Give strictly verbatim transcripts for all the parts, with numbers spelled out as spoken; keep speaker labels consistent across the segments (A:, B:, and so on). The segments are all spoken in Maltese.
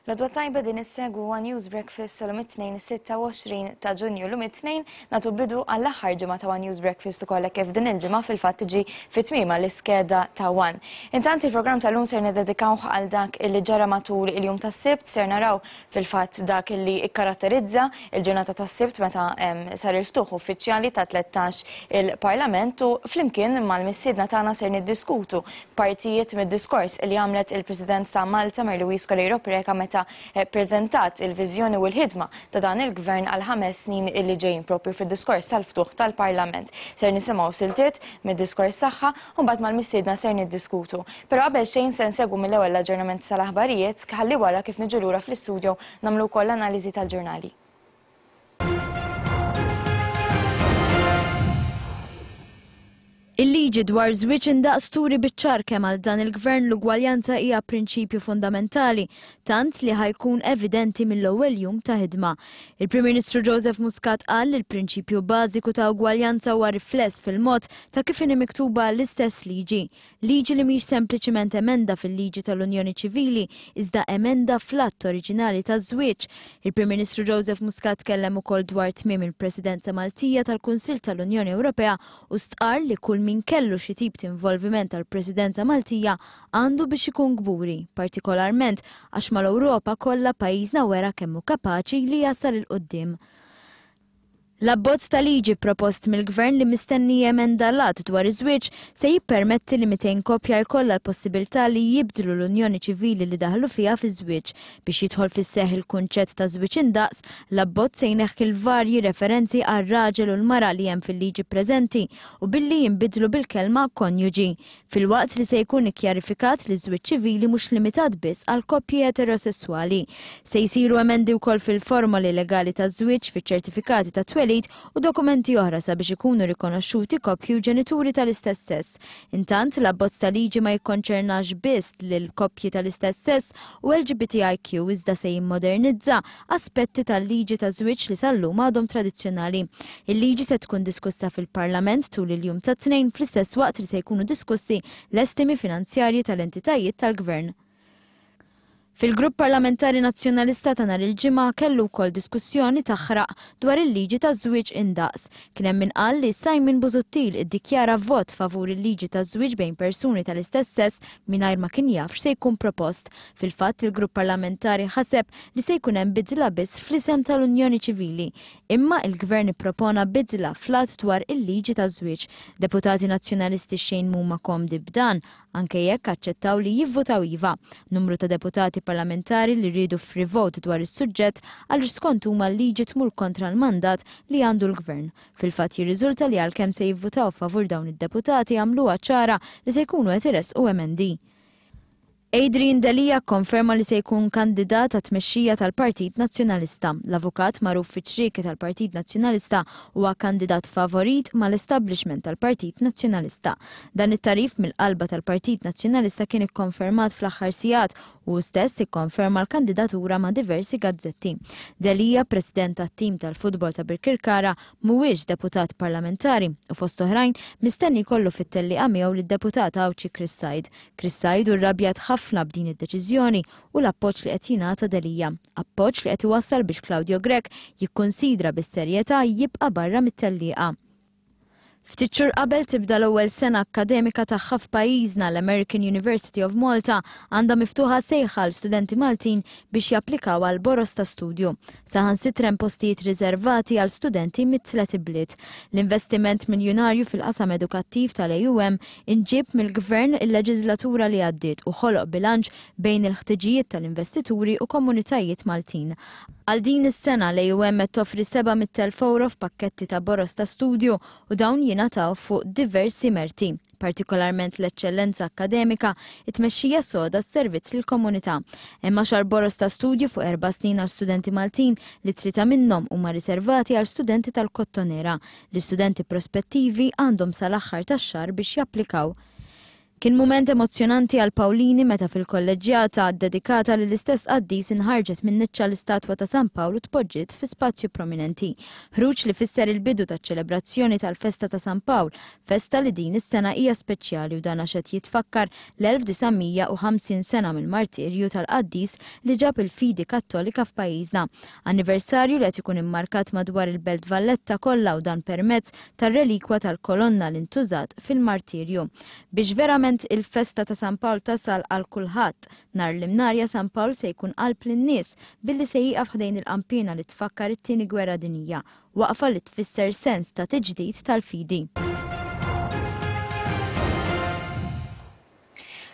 A: L-għodwa t-tajba, din issegwu One News Breakfast sal-lum it-Tnejn sitta u għoxrin ta' Ġunju. L-lum it-Tnejn nagħtu bidu għall-aħħar ġimgħa ta' One News Breakfast ukoll, kif din il-ġimgħa fil-fatt tiġi fit-tmiema l-iskeda ta' One. Intant, il-programm tal-lum ser nededikawh għal dak illi ġara matul il-jum tas-Sibt. Ser naraw fil-fatt dak illi ikkaratterizza il-ġurnata tas-Sibt meta em, sar il-ftuħ uffiċjali ta' tlettax il-Parlament u flimkien mal-mistiedna tagħna ser niddiskutu partijiet mid-diskors li għamlet il-President ta' Malta, Mary Louise Coleiro Preca, meta eh, prezentat il-viżjoni u l-ħidma ta' dan il-gvern għal ħames snin illi ġejjin, propju fid-diskors tal-ftuħ tal-Parlament. Ser nisimgħu siltiet mid-diskors tagħha u mbagħad mal-mistiedna ser niddiskutu. Però qabel xejn se nsegwu mill-ewwel l-aġġornament tal-aħbarijiet, ħalli wara, kif niġu lura fl-istudio, nagħmlu wkoll l-analiżi tal-ġurnali.
B: Il-liġi dwar żwieġ indaqs turi biċ-ċar kemm għal dan il-gvern l-ugwaljanza hija prinċipju fundamentali, tant li ħa jkun evidenti mill-ewwel jum ta' ħidma. Il-Prim Ministru Joseph Muscat qal li l-prinċipju bażiku ta' ugwaljanza huwa rifless fil-mod ta' kif inhi miktuba l-istess liġi. Liġi li mhix sempliċiment emenda fil-liġi tal-Unjoni Ċivili, iżda emenda fl-att oriġinali taż-żwieġ. Il-Prim Ministru Joseph Muscat tkellem ukoll dwar tmiem il-Presidenza Maltija tal-Kunsill tal-Unjoni Ewropea u stqar li kull min kellu xi tip ta' involviment tal-Presidenza Maltija għandu biex ikun kburi, partikolarment għax mal-Ewropa kollha pajjiżna wera kemm hu kapaċi li jasal 'il quddiem. L-abbozz ta' liġi propost mill-gvern li mistenni jemenda l-att dwar iż-żwieġ se jippermetti li mitejn koppja jkollha l-possibilità li jibdlu l-unjoni ċivili li daħlu fiha fi żwieġ. Biex jidħol fis-seħ il-kunċett ta' żwieġ indaqs, l-abbozz se jneħħi l-varji referenzi għal raġel u l-mara li hemm fil-liġi preżenti u billi jinbidlu bil-kelma konjuġi. Filwaqt li se jkun ikkjarifikat li żwieġ ċivili mhux limitat biss għal koppji eterosessuali. Se jsiru emendi wkoll fil-formoli legali ta' żwieġ, fiċ-ċertifikati ta' twelid u dokumenti oħra sabiex ikunu rikonoxxuti koppji u ġenituri tal-istess sess. Intant, l-abbozz ta' liġi ma jikkonċernax biss lil koppji tal-istess sess u L G B T I Q, iżda se jimmodernizza aspetti tal-liġi ta' żwieġ li sal-lum għadhom tradizzjonali. Il-liġi se tkun diskussa fil-Parlament tul il-jum ta' Tnejn, fl-istess waqt li se jkunu diskussi l-estimi finanzjarji tal-entitajiet tal-gvern. Fil-grupp parlamentari nazzjonalista ta' nhar il-Ġimgħa kellu wkoll diskussjoni taħraq dwar il-liġi ta' żwieġ indaqs. Kien hemm min qal li Simon Busuttil iddikjara vot favur il-liġi ta' żwieġ bejn persuni tal-istess sess mingħajr ma kien jaf x'se jkun propost. Fil-fatt, il-grupp parlamentari ħaseb li se jkun hemm bidla biss fl-isem tal-Unjoni Ċivili. Imma il-gvern ippropona bidla fl-att dwar il-liġi ta' żwieġ. Deputati nazzjonalisti xejn mhuma komdi b'dan, anke jekk aċċettaw li jivvotaw iva. Numru ta' deputati parlamentari li rridu free vote dwar is-suġġett għaliex skont huma l-liġi tmur kontra l-mandat li għandu l-gvern. Fil-fatt, jirriżulta li għalkemm se jivvotaw favur, dawn id-deputati għamluha ċara li se jkunu qed iressqu emendi. Adrian Delia konferma li se jkun kandidat għat tmexxija tal-Partit Nazzjonalista. L-avukat magħruf fiċ-ċrieki tal-Partit Nazzjonalista huwa kandidat favorit mal-establishment tal-Partit Nazzjonalista. Dan it-tagħrif mill-qalba tal-Partit Nazzjonalista kien ikkonfermat fl-aħħar sigħat u stess ikkonferma l-kandidatura ma' diversi gazzetti. Delia, president tat-tim tal-futbol ta' Birkirkara, mhuwiex deputat parlamentari u fost oħrajn mistenni jkollu fit-tellieqa miegħu lid-deputat Għawdxi Chris Said. Chris Said irrabjat ħafna b'din id-deċiżjoni u l-appoġġ li qed jingħata Delia. Appoġġ li qed iwassal biex Claudio Grech jikkonsidra bis-serjetà jibqa' barra mit-tellieqa. Ftit xhur qabel tibda l-ewwel sena akkademika tagħha f'pajjiżna, l-American University of Malta għandha miftuħa sejħa għal studenti Maltin biex japplikaw għal boros ta' studju. Saħansitra hemm postijiet riservati għal studenti mit-tliet ibliet. L-investiment miljonarju fil-qasam edukattiv tal-A U M inġib mill-gvern il-leġislatura li għaddiet u ħoloq bilanċ bejn il-ħtiġijiet tal-investituri u komunitajiet Maltin. Għal din is-sena l-A U M qed toffri seba' mitt elf euro f'pakketti ta' boros ta' studju u dawn jingħataw fuq diversi merti, partikolarment l-eċċellenza akkademika, it-tmexxija soda, s-servizz lill-komunità. Hemm għaxar boros ta' studju fuq erba' snin għal studenti Maltin, li tlieta minnhom huma riservati għal studenti tal-Kottonera. L-istudenti prospettivi għandhom sal-aħħar tax-xahar biex japplikaw. Kien mument emozzjonanti għal Pawlini meta fil-kolleġġjata dedikata lill-istess qaddis inħarġet minn niċċa l-istatwa ta' San Pawl u tpoġġiet fi spazju prominenti. Ħruġ li fisser il-bidu taċ-ċelebrazzjoni tal-festa ta' San Pawl, festa li din is-sena hija speċjali u dan għax qed jitfakkar l-elf disa' mija u ħamsin sena mill-martirju tal-qaddis li ġab il-fidi kattolika f'pajjiżna. Anniversarju li qed ikun immarkat madwar il-Belt Valletta kollha u dan permezz tar-relikwa tal-kolonna li ntużat fil-martirju. Biex verament il-festa ta' San Pawl tasal għal kulħadd, nhar l-Imnarja San Pawl se jkun qalb lin-nies billi se jieqaf ħdejn il-qampina li tfakkar it-tieni gwerra dinjija, waqfa li tfisser sens ta' tiġdid tal-fidi.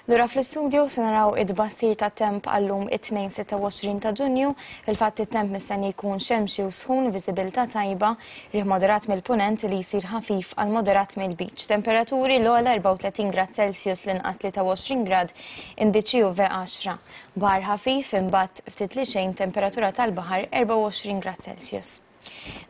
A: Lura fl-istudio se naraw id-bassir ta' temp għallum it-tnejn sitta u għoxrin ta' Ġunju. Fil-fatt it-temp mistenni jkun xemxi u sħun, viżibilità tajba, riħ moderat mill-punent li jsir ħafif għal moderat mill-beach. Temperaturi l-ogħla erbgħa u tletin grad Celsius, l-inqas tlieta u għoxrin grad, indiċi U V għaxra. Baħar ħafif imbagħad ftit li xejn, temperatura tal-baħar erbgħa u għoxrin grad Celsius.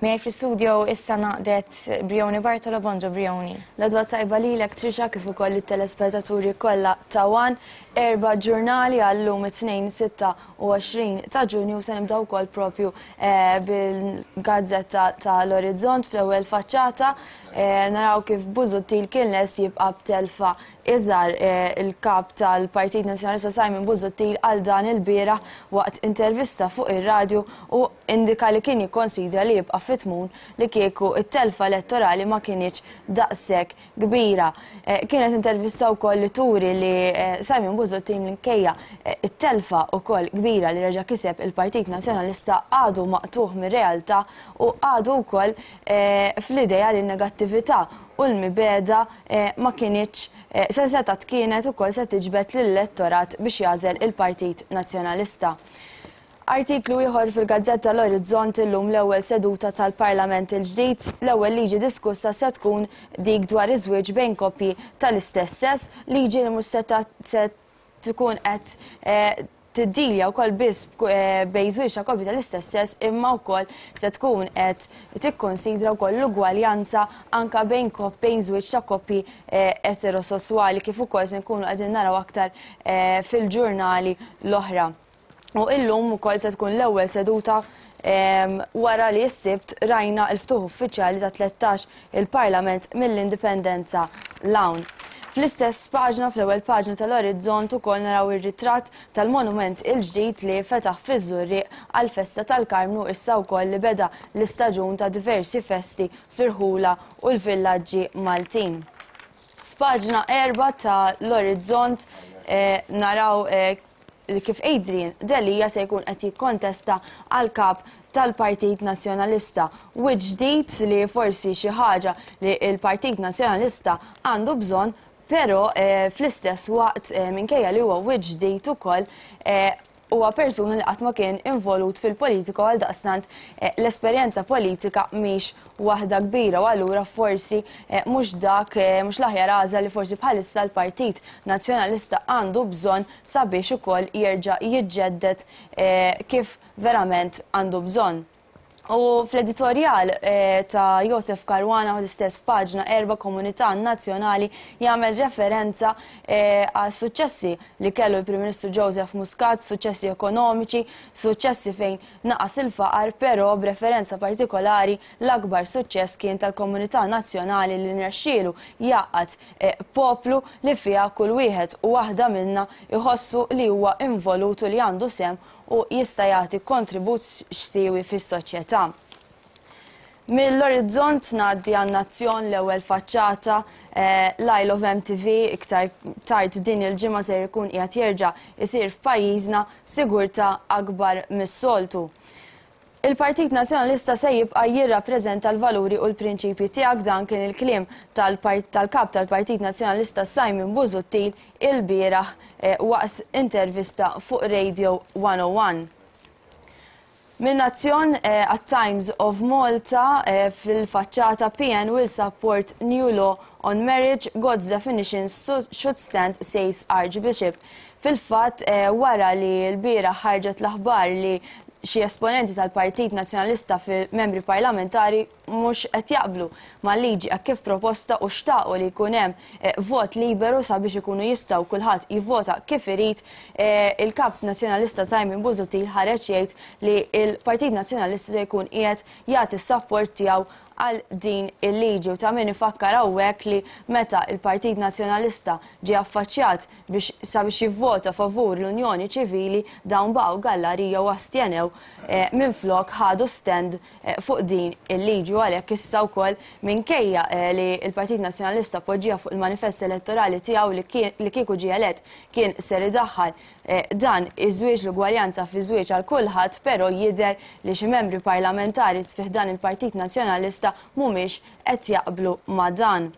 A: Miegħi fl-istudio issa naqdet Brioni Bartolo. Bonġu Brioni.
C: L-għodwa tajba lilek Trisha kif ukoll it-telespettaturi kollha ta' One. Erba' ġurnali għallum it-tnejn sitta u għoxrin ta' Ġunju. Se nibdew ukoll propju, eh, bil-gazzetta tal-Orizzont fl-ewwel faċċata. Eh, naraw kif Busuttil kien lest jibqa' b'telfa iżgħar, eh, il-kap tal-Partit Nazzjonalista Simon Busuttil għal dan il-bieraħ waqt intervista fuq ir-radju u indika li kien jikkonsidra li jibqa' fit-tmun li kieku it-telfa elettorali ma kinitx daqshekk kbira. Eh, kienet intervista wkoll li turi li, eh, Simon Busuttil minkejja, eh, it-telfa wkoll kbira li reġa' kiseb il-Partit Nazzjonalista għadu maqtuħ mir-realtà u għadu wkoll, eh, fl-idea li n-negattività u l-mibeda, eh, ma kinitx, eh, se setat kienet ukoll se tiġbed lill-elettorat biex jażel il-Partit Nazzjonalista. Artiklu ieħor fil-Gazzetta l-Orizzont illum l-ewwel seduta tal-Parlament il-ġdid, l-ewwel liġi diskussa se tkun dik dwar iż-żwieġ bejn koppji tal-istess sess, liġi li mhux se ta-, se tkun qed, eh, tiddilja wkoll biss, eh, bejn żwieġ ta' koppji tal-istess sess, imma wkoll se tkun qed tikkonsidra wkoll l-ugwaljanza anka bejn kop-, bejn żwieġ ta' koppji, eh, eterosessuali, kif ukoll se nkunu qegħdin naraw aktar, eh, fil-ġurnali l-oħra. U illum ukoll se tkun l-ewwel seduta, em, wara li s-Sibt rajna l-ftuħ uffiċjali ta' tlettax il-Parlament mill-Indipendenza l-hawn. Fl-istess paġna, fl-ewwel paġna tal-Orizzont ukoll naraw ir-ritratt tal-monument il-ġdid li fetaħ fiż-Żurrieq għall-festa tal-Karmnu, issa wkoll li beda l-istaġun ta' diversi festi fir-ħula u l-villaġġi Maltin. F'paġna erba' tal-Orizzont, eh, naraw, eh, li kif Adrian Delia se jkun qed jikkontesta għal kap tal-Partit Nazzjonalista. U ġdid li forsi xi ħaġa li l-Partit Nazzjonalista għandu bżonn, però, eh, fl-istess waqt, eh, minkejja li huwa wiċċ ġdid ukoll, eh, huwa persuna li qatt ma kien involut fil-politika u għaldaqstant, eh, l-esperjenza politika mhix waħda kbira u allura forsi, eh, mhux dak, eh, mhux l-aħjar għażla li forsi bħalissa l-Partit Nazzjonalista għandu bżonn sabiex ukoll jerġa' jiġġedded, eh, kif verament għandu bżonn. U fl-editorjal, eh, ta' Josef Caruana u l-istess f'paġna erba' Komunità Nazzjonali jagħmel referenza, eh, għal suċċessi li kellu l-Prim Ministru Joseph Muscat, suċċessi ekonomiċi, suċċessi fejn naqas il-faqar, però b'referenza partikolari l-akbar suċċess kien tal-Komunità Nazzjonali li nrexxielu jaqgħad, eh, poplu li fiha kull wieħed u waħda minna jħossu li huwa involut u li għandu sehem u jista' jagħti kontribut x'siewi fis-soċjetà. Mill-Orizzont ngħaddi għan-Nazzjon l-ewwel faċċata, eh, l-Isle of M T V iktar tard din il-ġimgħa se jkun qiegħed jerġa' isir f'pajjiżna sigurtà akbar mis-soltu. Il-Partit Nazzjonalista se jibqa' jirrappreżenta l-valuri u l-prinċipji tiegħek, dan kien il-kliem tal-part-, tal-kap tal-Partit Nazzjonalista Simon Busuttil il-bieraħ, eh, waqt intervista fuq Radio one oh one. Min Nazzjon, eh, at Times of Malta, eh, fil-faċċata P N will support new law on marriage, God's definition should stand, says Archbishop. Fil-fatt, eh, wara li l-bieraħ ħarġet l-aħbar li Xi esponenti tal-Partit Nazzjonalista fil-membri parlamentari mhux qed jaqblu mal-liġi kif proposta u xtaqu li jkun hemm eh, vot liberu sabiex ikunu jistgħu kulħadd jivvota kif irid. eh, Il-kap Nazzjonalista Simon Busuttil ħareġ jgħid li il-Partit Nazzjonalista se jkun qiegħed jagħti s-sapport tiegħu għal din il-liġi. U ta' min ifakkar hawnhekk li meta il-Partit Nazzjonalista ġie affaċċjat biex sabiex jivvota favur l-Unjoni Ċivili, dawn baqgħu gallarija u astjenew eh, minflok ħadu stand eh, fuq din il-liġi. U għalhekk issa wkoll, minkejja eh, li il-Partit Nazzjonalista poġġija fuq il-manifest elettorali tiegħu li kien- li kieku ġie elett kien ser idaħħal eh, dan iż-żwieġ, l-ugwaljanza fi żwieġ għal kulħadd, però jidher li xi membri parlamentari fih dan il-Partit Nazzjonalista mhumiex qed jaqblu ma' dan.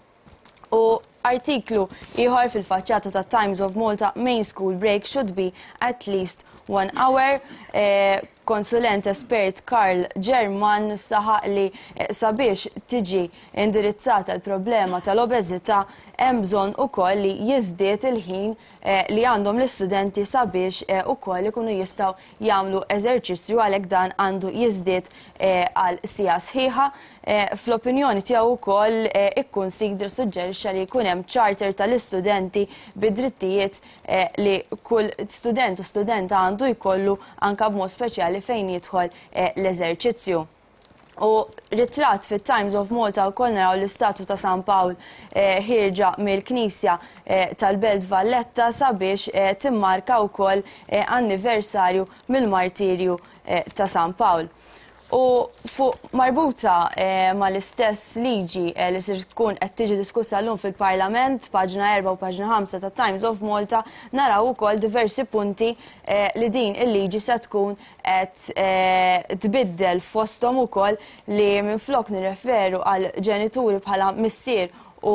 C: U artiklu ieħor fil-faċċata ta' Times of Malta, "Main school break should be at least one hour". Eh, konsulent espert Karl German saħaq li eh, sabiex tiġi indirizzata l-problema tal-obeżità hemm bżonn ukoll li jiżdied il-ħin eh, li għandhom l-istudenti sabiex eh, ukoll ikunu jistgħu jagħmlu eżerċizzju, għalhekk dan għandu jiżdied eh, għal siegħa sħiħa. Eh, Fl-opinjoni tiegħu wkoll eh, ikkunsidra, suġġerixxa li jkun hemm charter tal-istudenti bid-drittijiet eh, li kull student u studenta għandu jkollu, anka b'mod speċjali fejn jidħol eh, l-eżerċizzju. U ritratt fit Times of Malta wkoll naraw l-istatu ta' San Pawl eh, ħierġa mill-Knisja eh, tal-Belt Valletta sabiex eh, timmarka wkoll eh, anniversarju mill-martirju eh, ta' San Pawl. U fuq marbuta eh, mal-istess liġi eh, li ser tkun qed tiġi diskussa llum fil-Parlament, paġna erbgħa u paġna ħamsa ta' Times of Malta, naraw ukoll diversi punti eh, li din il-liġi se tkun qed eh, tbiddel, fosthom ukoll li minflok nirreferu għal ġenituri bħala missier u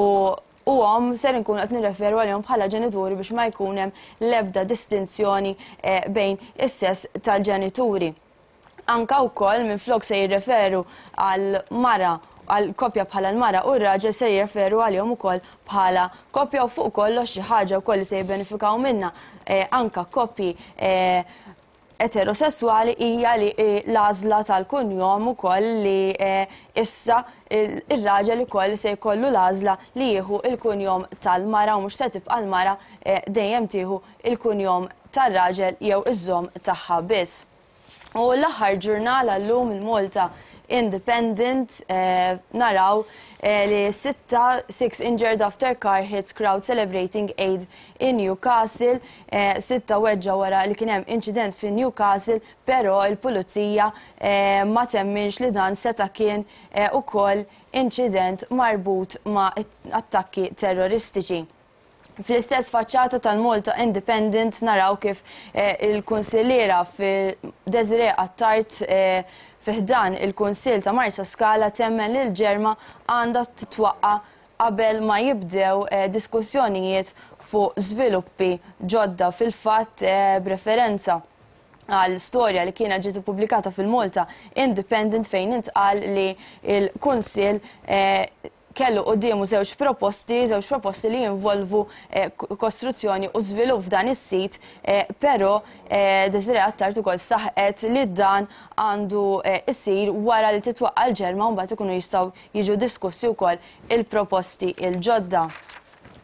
C: u omm, ser nkun qed nirreferu għalihom bħala ġenituri biex ma jkun hemm l-ebda distinzjoni eh, bejn is-sess tal-ġenituri. Anka wkoll minflok se jirreferu għal mara, għal koppja bħala l-mara u r-raġel, se jirreferu għalihom ukoll bħala koppja. U fuq kollox xi ħaġa wkoll li se jibbenefikaw minna eh, anka koppji eh, eterosessuali hija li eh, l-għażla tal-kunjom ukoll, li eh, issa il- ir-raġel ukoll se jkollu l-għażla li jieħu il-kunjom tal-mara u mhux se tibqa' l-mara eh, dejjem tieħu il-kunjom tar-raġel jew iżżomm tagħha biss. U l-aħħar ġurnal għallum, il-Malta Independent, eh, naraw eh, li sitta, "Six injured after car hits crowd celebrating Eid in Newcastle". Eh, sitta weġġa wara li kien hemm incident fi Newcastle, però il-pulizija eh, ma temminx li dan seta kien eh, ukoll incident marbut ma' attakki terroristiċi. Fl-istess faċċata tal-Malta Independent naraw kif eh, il-kunsilliera fi Desiree Attard eh, fi ħdan il-Kunsill ta' Marsa Skala temmen li l-Ġerma għandha titwaqqa qabel ma jibdew eh, diskussjonijiet fuq żviluppi ġodda. Fil-fatt, eh, b'referenza għal storja li kienet ġiet ippubblikata fil-Malta Independent fejn intqal li il-Kunsill eh, kellu quddiemu żewġ proposti, żewġ proposti li jinvolvu eh, kostruzzjoni u żvilupp f'dan is-sit, eh, però eh, Desiree Attard ukoll saħqet li dan għandu eh, isir wara li titwaqqa l-Ġerma u mbagħad ikunu jistgħu jiġu diskussi wkoll il-proposti il-ġodda.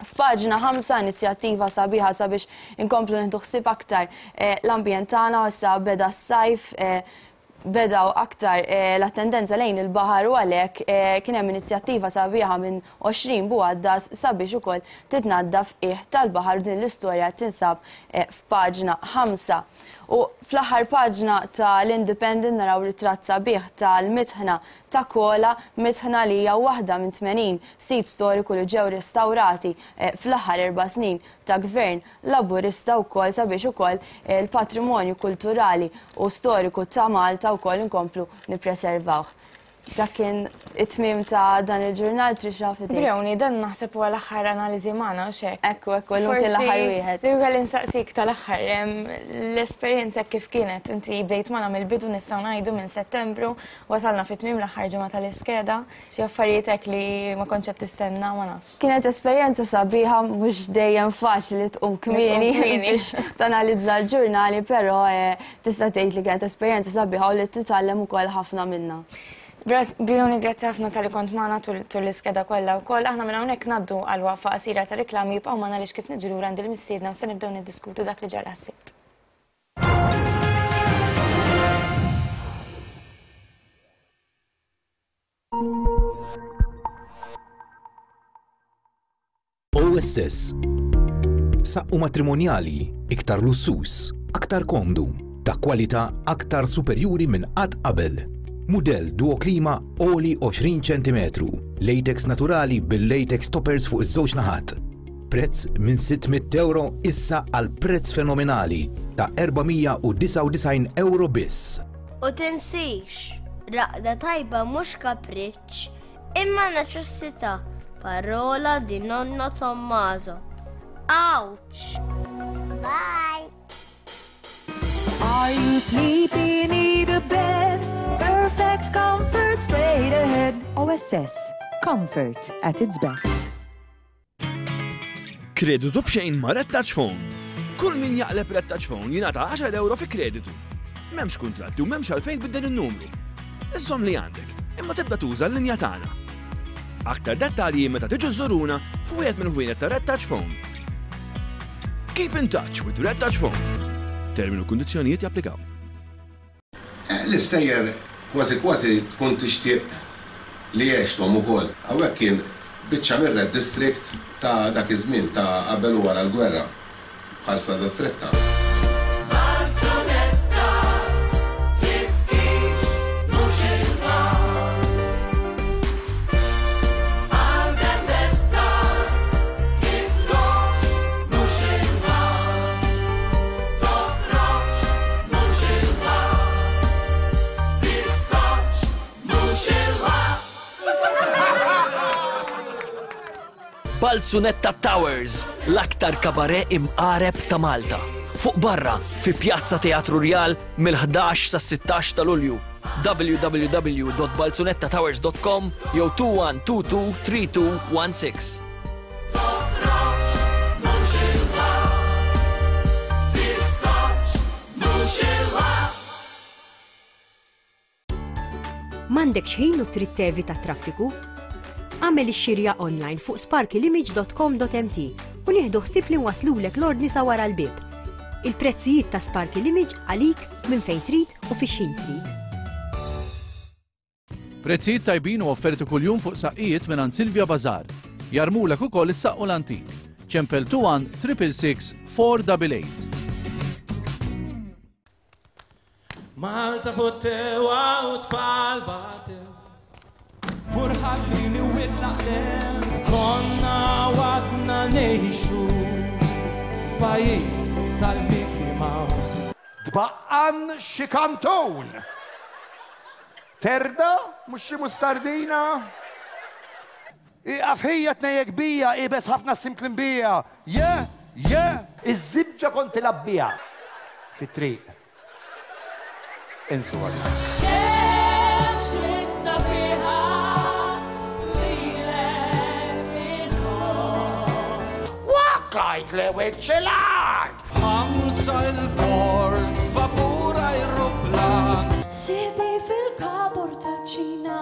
C: F'paġna ħamsa, inizjattiva sabiħa sabiex inkomplu nieħdu ħsieb aktar eh, l-ambjent tagħna. Issa beda s-sajf, eh, bedaw aktar eh, l-attendenza lejn il-baħar u għalhekk eh, kien hemm inizjattiva sabiħa minn għoxrin bugħaddas sabiex ukoll titnaddaf qiegħ tal-baħar. Din l-istorja tinsab eh, f'paġna ħamsa. U fl-aħħar paġna tal-Independent naraw ritratt sabiħ tal-mitħna ta' Kola, mitħna li hija waħda minn tmenin sit storiku li ġew restaurati eh, fl-aħħar erba' snin ta' gvern Laburista wkoll sabiex ukoll eh, il-patrimonju kulturali u storiku ta' Malta wkoll inkomplu nippreservawh. Dak kien it-tmiem ta' dan il-ġurnal, Trisha, f'idejk.
A: Brioni, dan naħseb huwa l-aħħar analiżi magħna u xek.
C: Ekku, ekku, llum kien l-aħħar wieħed.
A: Li kelli nsaqsik tal-aħħar, l-esperjenza kif kienet, inti bdejt magħna mill-bidu nistgħu ngħidu minn Settembru, wasalna fit-tmiem l-aħħar ġimgħa tal-iskeda, xi affarijiet hekk li ma kontx qed tistenna, ma nafx.
C: Kienet esperjenza sabiħa, mhux dejjem faċli tqum kmieni biex tanalizza l-ġurnali, però tista' tgħid li kienet esperjenza sabiħa u li titgħallem ukoll ħafna minnha.
A: Brioni, grazzi ħafna tal-li kont magħna tul l-iskeda kollha wkoll. Aħna minn hawnhekk ngħaddu għal waqfa qasira ta' riklami, jibqgħu magħna għaliex kif niġu lura għand il-mistiedna u se nibdew niddiskutu dak li ġara s-Sibt.
D: O S S. Saqqu matrimonjali, iktar lussus, aktar komdu, ta' kwalità aktar superjuri minn qatt qabel. Mudell Duo Klima oli għoxrin ċentimetru, latex naturali bil-latex toppers fuq iż-żewġ naħat. Prezz minn sitt mitt euro issa għal prezz fenomenali ta' erba' mija u disgħa u disgħin euro biss.
E: U tinsix, raqda tajba mhux kapriċċ, imma neċessità. Parola di nonno Tommaso. Ouch! Bye!
F: Are you sleepy? Need a bed? Perfect comfort straight ahead. O S S. Comfort at its best.
G: Kreditu b'xejn ma' Red Touch Phone. Kull min jaqleb Red Touch Phone jingħata għaxar euro fi kreditu. M'hemmx kuntratti u m'hemmx għalfejn tbiddel in-numru. Iżżomm li għandek, imma tibda tuża l-linja tagħna. Aktar dettalji meta tiġu żuruna f'wieħed mill-ħwienet ta' Red Touch Phone. Keep in touch with Red Touch Phone. Terminu u kundizzjonijiet japplikaw.
H: L-istejjer kważi kważi tkun tixtieq li għexthom ukoll. Hawnhekk kien biċċa mir-Red District ta' dak iż-żmien ta' qabel u wara l-gwerra bħal Strada Stretta.
I: Balzunetta Towers, l-aktar kabare imqareb ta' Malta. Fuq barra, fi Pjazza Teatru Rjal mill-ħdax sa sittax ta' Lulju. w w w dot balzunetta towers dot com jew two one two two three two one six.
J: M'għandekx ħin u trid tevita traffiku? Għamel ix-xirja online fuq sparkylimage dot com dot m t u nieħdu ħsieb li nwaslulek l-ordni sa wara l-bieb. Il-prezzijiet ta' Sparky Image għalik minn fejn trid u fi xħin trid.
K: Prezzijiet tajbin u offerti kuljum fuq saqqijiet minn Silvia Bazar. Jarmulek ukoll is-saqqu l-antik. Ċempel two one triple six four double eight.
L: Malta futtewa u tfal batew. Purħallini u itlaqlem. Konna għadna nejxu f'pajjiż tal-Mickey Mouse.
M: Tbaqqan xi kantun. Terda, mhux xi mustardina. Iqaf ħija tnejjek bija, ibes ħafna simklin bija. Je, je, iż-żibġa kont tilgħab biha fit-triq. Insu għadna. Waqqajt li wiċċ l-art!
L: Ħamsa il-port, vapur ajruplan.
F: Sibi fil-kabur tal-ċina.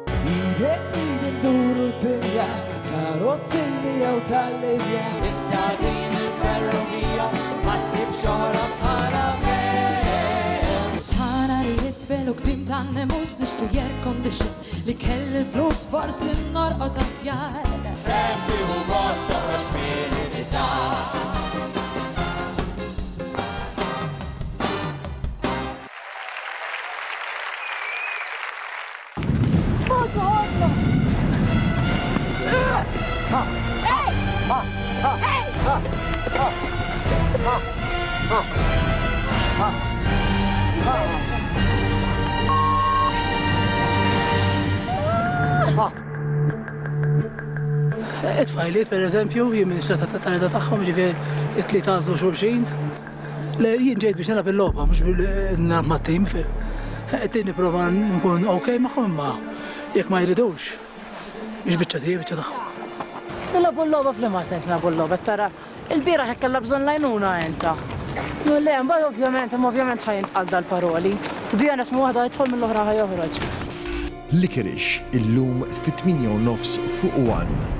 N: Idek fid induru d-dinja, karozzini jew tal-Libja.
L: Iżda din il-ferrovija ma ssibx oħra bħala ver.
F: Sħana rrid sfel u ktim tan-nemus nixtri air condition li kelli l-flus forsi norqod aħjar.
L: Fremti u gost toħroġ mill-unità.
O: It-tfajliet per eżempju, jien minn xrata ta' tarida tagħhom, ġifieri it-tlieta għażlu xulxin. Le jien ġejt biex nilgħab il-logħba, mhux nilgħab mat-tim. Qed nipprova nkun okej magħhom imma jekk ma jridux. Mhix biċċa tiegħi, biċċa tagħhom.
P: Nilagħbu l-logħba f'liema sens nilagħbu l-logħba, tara il-bieraħ hekk kellha bżonn l-għajnuna enta. Le, mbagħad ovvjament, imma ovvjament ħa jintqal dal-paroli. To be honest, ma waħda jidħol mill-oħra ħa joħroġ.
Q: Licorice illum fit-tmienja u nofs fuq One.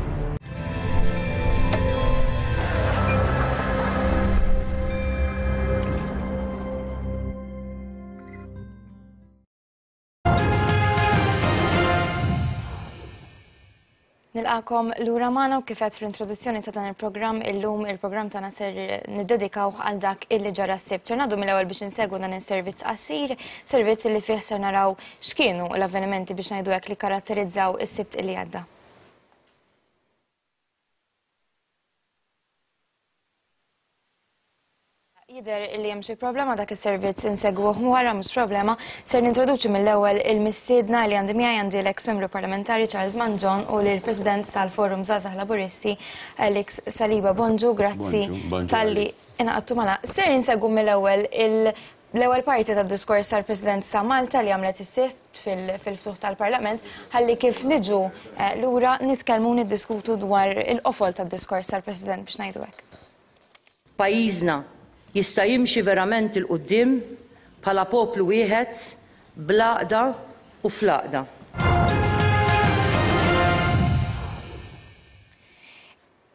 A: Nilqakom lura magħna u kif għedt fl-introduzzjoni ta' dan il-programm illum il-programm tagħna ser niddedikawh għal dak illi ġara s-Sibt. Ser ngħaddu mill-ewwel biex insegwu dan is-servizz qasir, servizz li fih ser naraw x'kienu l-avvenimenti biex ngħidu hekk li karatterizzaw is-Sibt illi għadda. Jidher li hemm xi problema dak is-servizz insegwuh wara mhux problema, ser nintroduċi mill-ewwel il-mistiedna li għandi miegħi għandi l-eks membru parlamentari Charles Mangion u lill-President tal-Forum Żgħażagħ Laburisti Alex Saliba. Bonġu, grazzi talli ingħaqadtu magħna. Ser insegwu mill-ewwel l-ewwel parti tad-diskors tal-President ta' Malta li għamlet is-Sibt fil-ftuħ tal-Parlament, ħalli kif niġu lura nitkellmu niddiskutu dwar il-qofol tad-diskors tal-President biex ngħidu hekk.
R: Pajjiżna jista' jimxi verament 'il quddiem bħala poplu wieħed bl-għaqda u fl-għaqda.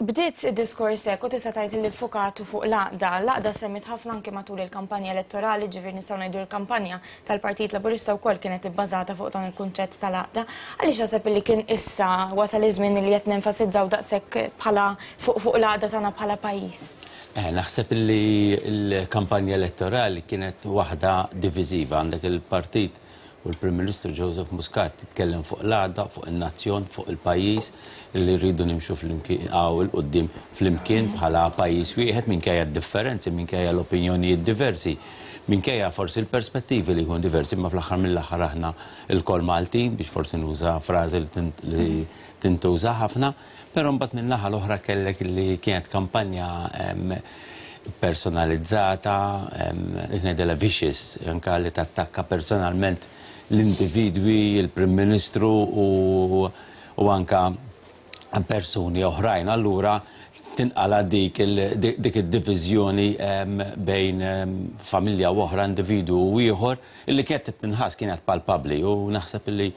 A: Bdiet id-diskors hekk u tista' tgħid li ffukatu fuq l-għaqda. L-għaqda semmit ħafna anke matul il-kampanja elettorali, ġifieri nistgħu ngħidu l-kampanja tal-Partit Laburista wkoll kienet ibbażata fuq dan il-kunċett tal-għaqda. Għaliex naħseb li kien issa wasal iż-żmien li qed nenfasizzaw daqshekk bħala fuq fuq l-għaqda tagħna bħala pajjiż?
S: Naħseb li l-kampanja elettorali kienet waħda diviżiva. Għandek il-partit u l-Prim Ministru Joseph Muscat titkellem fuq l-għaqda, fuq il-nazzjon, fuq il-pajjiż li rridu nimxu flimkien għaw il-qoddim flimkien bħala pajjiż wieħed minkejja d-differenzi, minkejja l-opinjonijiet diversi, minkejja forsi l-perspettivi li jkun diversi, ma fl-aħħar mill-aħħar aħna l-kol Maltin, biex forsi nuża frażi li tintuża ħafna. Però mbagħad min-naħa l-oħra kellek li kienet kampanja personalizzata, ngħidilha vicious, anke li tattakka personalment l-individwi, il-Prim Ministru u, u anka persuni oħrajn. Allura tinqala dik id-diviżjoni bejn familja u oħra, individwu u ieħor, illi kienet tinħass kienet palpabbli, u naħseb illi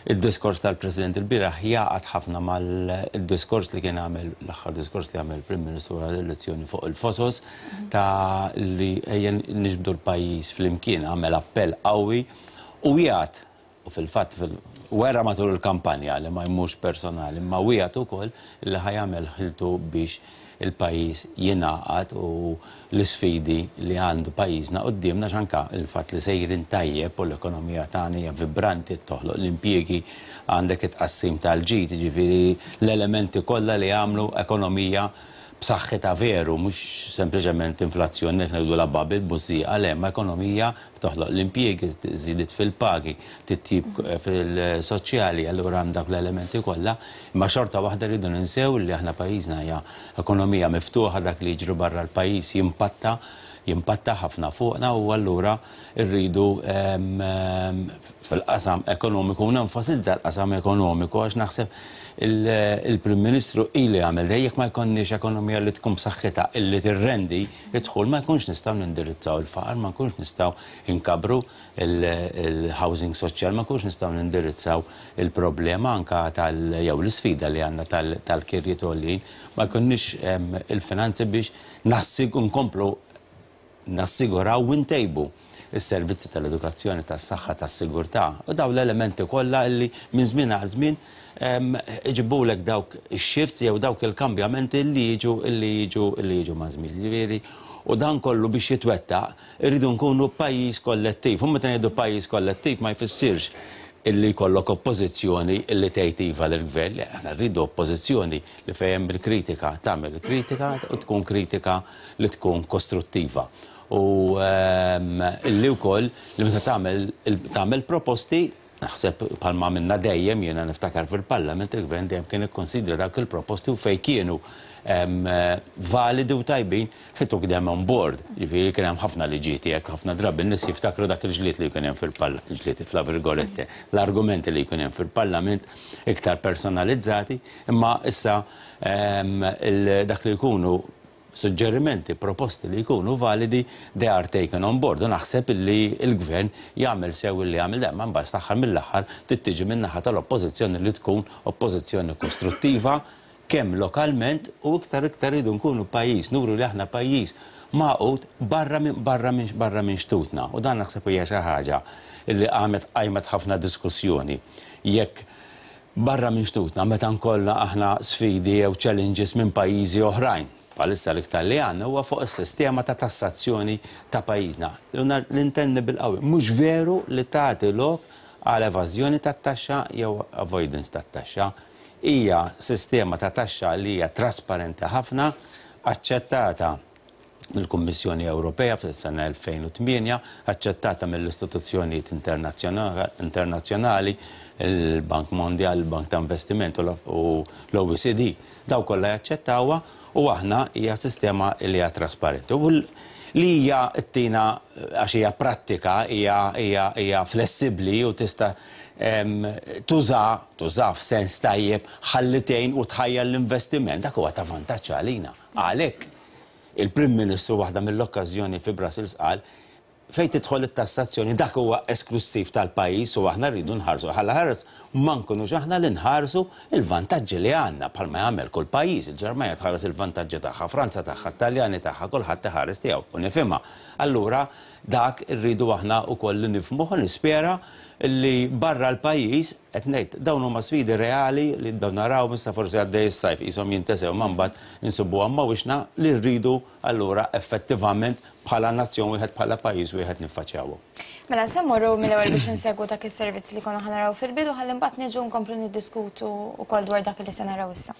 S: id-diskors tal-President il-bieraħ jaqgħad ħafna mal-diskors li kien għamel, l-aħħar diskors li għamel il-Prim Ministru wara l-elezzjoni fuq il-Fosos, ta' li ejja niġbdu l-pajjiż flimkien, għamel appell qawwi u jgħad, u fil-fatt wera matul il-kampanja li ma jmux personali, ma wiegħed ukoll li ħajamel ħiltu biex il-pajjiż jingħaqad u l-isfidi li għandu pajjiżna quddiemna, x'anka il-fatt li sejrin tajjeb u l-ekonomija tagħna hija vibranti, toħloq l-impjiegi, għandek it-tqassim tal-ġid, jiġifieri l-elementi kollha li jagħmlu ekonomija b'saħħitha veru, mhux sempliċement inflazzjoni li ngħidu la bubble bużżieqa, le, ma ekonomija toħloq l-impjiegi, żidiet fil-pagi, titjib fil-soċjali, allura hemm dak l-elementi kollha, imma xorta waħda rridu ninsew li aħna pajjiżna hija ekonomija miftuħa, dak li jiġri barra l-pajjiż jimpatta jimpatta ħafna fuqna, u allura rridu fil-qasam ekonomiku, u nenfasizza l-qasam ekonomiku għax naħseb il-Prim Ministru ili għamel dej, jekk ma jkollniex ekonomija li tkun b'saħħitha illi tirrendi id-dħul, ma jkunx nistgħu nindirizzaw il-faqar, ma nkunx nistgħu nkabru il-housing soċjal, ma nkunx nistgħu nindirizzaw il-problema anka tal jew l-isfida li għandna tal-kirjiet għoljin, ma jkunniex il-finanzi biex nkomplu nassiguraw u ntejbu is-servizzi tal-edukazzjoni, tas-saħħa, tas-sigurtà, u daw l-elementi kollha illi minn żmien għal żmien iġibulek dawk ix-shifts jew dawk il-kambjamenti li jiġu li jiġu li jiġu ma' żmien. Ġifieri, u dan kollu biex jitwettaq irridu nkunu pajjiż kollettiv. U meta ngħidu pajjiż kollettiv ma jfissirx illi jkollok oppożizzjoni illi tgħid iva lill-gvern, le, aħna rridu oppożizzjoni li fejn bil-kritika tagħmel kritika u tkun kritika li tkun kostruttiva. U illi wkoll li meta tagħmel tagħmel proposti Naħseb bħalma minna dejjem, jiena niftakar fil-Parlament, il-Gvern dejjem kien ikkonsidra dawk il-proposti u fejn kienu validi u tajbin, he took them on board. Ġifieri kien hemm ħafna liġijiet hekk, ħafna drabi n-nies jiftakru dak il-ġlied li jkun hemm fil-Parlament, ġlied fla virgolette, l-argumenti li jkun hemm fil-Parlament iktar personalizzati, imma issa dak li jkunu suġġerimenti, proposti li jkunu validi, they are taken on board. U naħseb li l-gvern jagħmel sew li jagħmel dan, ma mbagħad l-aħħar mill-aħħar tittiġi min-naħa tal-oppożizzjoni li tkun oppożizzjoni kostruttiva kemm lokalment u iktar iktar rridu nkunu pajjiż, nuru li aħna pajjiż magħqud barra minn barra minn barra minn xtutna. U dan naħseb hija xi ħaġa li qamet qajmet ħafna diskussjoni. Jekk barra minn xtutna meta nkollna aħna sfidi jew challenges minn pajjiżi oħrajn, bħalissa l-iktar li għandna huwa fuq is-sistema ta' tassazzjoni ta' pajjiżna. L-intenni bil-qawwi, mhux veru li tagħti lok għal evażjoni tat-taxxa jew avoidance tat-taxxa. Hija sistema ta' taxxa li hija trasparenti ħafna, aċċettata mill-Kummissjoni Ewropea fis-sena elfejn u tmienja, aċċettata mill-istituzzjonijiet internazzjonali, il-Bank Mondjal, il-Bank ta' Investiment u l-O E C D. Daw kollha jaċċettawha u aħna hija sistema li hija trasparenti. U li hija ttina għax hija prattika, hija, hija, hija flessibbli u tista' tuża, tuża f'sens tajjeb ħalli tgħin u tħajjar l-investiment, dak huwa ta' vantaġġ għalina. Għalhekk il-Prim Ministru waħda mill-okkażjoni fi Brussels qal fejn tidħol it-tassazzjoni dak huwa esklusiv tal-pajjiż u aħna rridu nħarsu. Ħalla ħares ma nkunux aħna li nħarsu il-vantaġġi li għandna bħalma jagħmel kull pajjiż. Il-Ġermanja tħares il-vantaġġi tagħha, Franza tagħha, Taljani tagħha, kulħadd iħares tiegħu u nifhimha. Allura dak irridu aħna wkoll li nifhmuh u nispera li barra l-pajjiż qed ngħid dawn huma sfidi reali li nibdew naraw issa forsi għaddej is-sajf qishom jintesew ma mbagħad insibuha ma wixna li rridu allura effettivament bħala nazzjon wieħed bħala pajjiż wieħed niffaċċjawhom.
A: Mela se mmorru mill-ewwel biex insegwu dak is-servizz li konna ħanaraw fil-bidu ħalli mbagħad niġu nkomplu niddiskutu wkoll dwar dak li se naraw issa.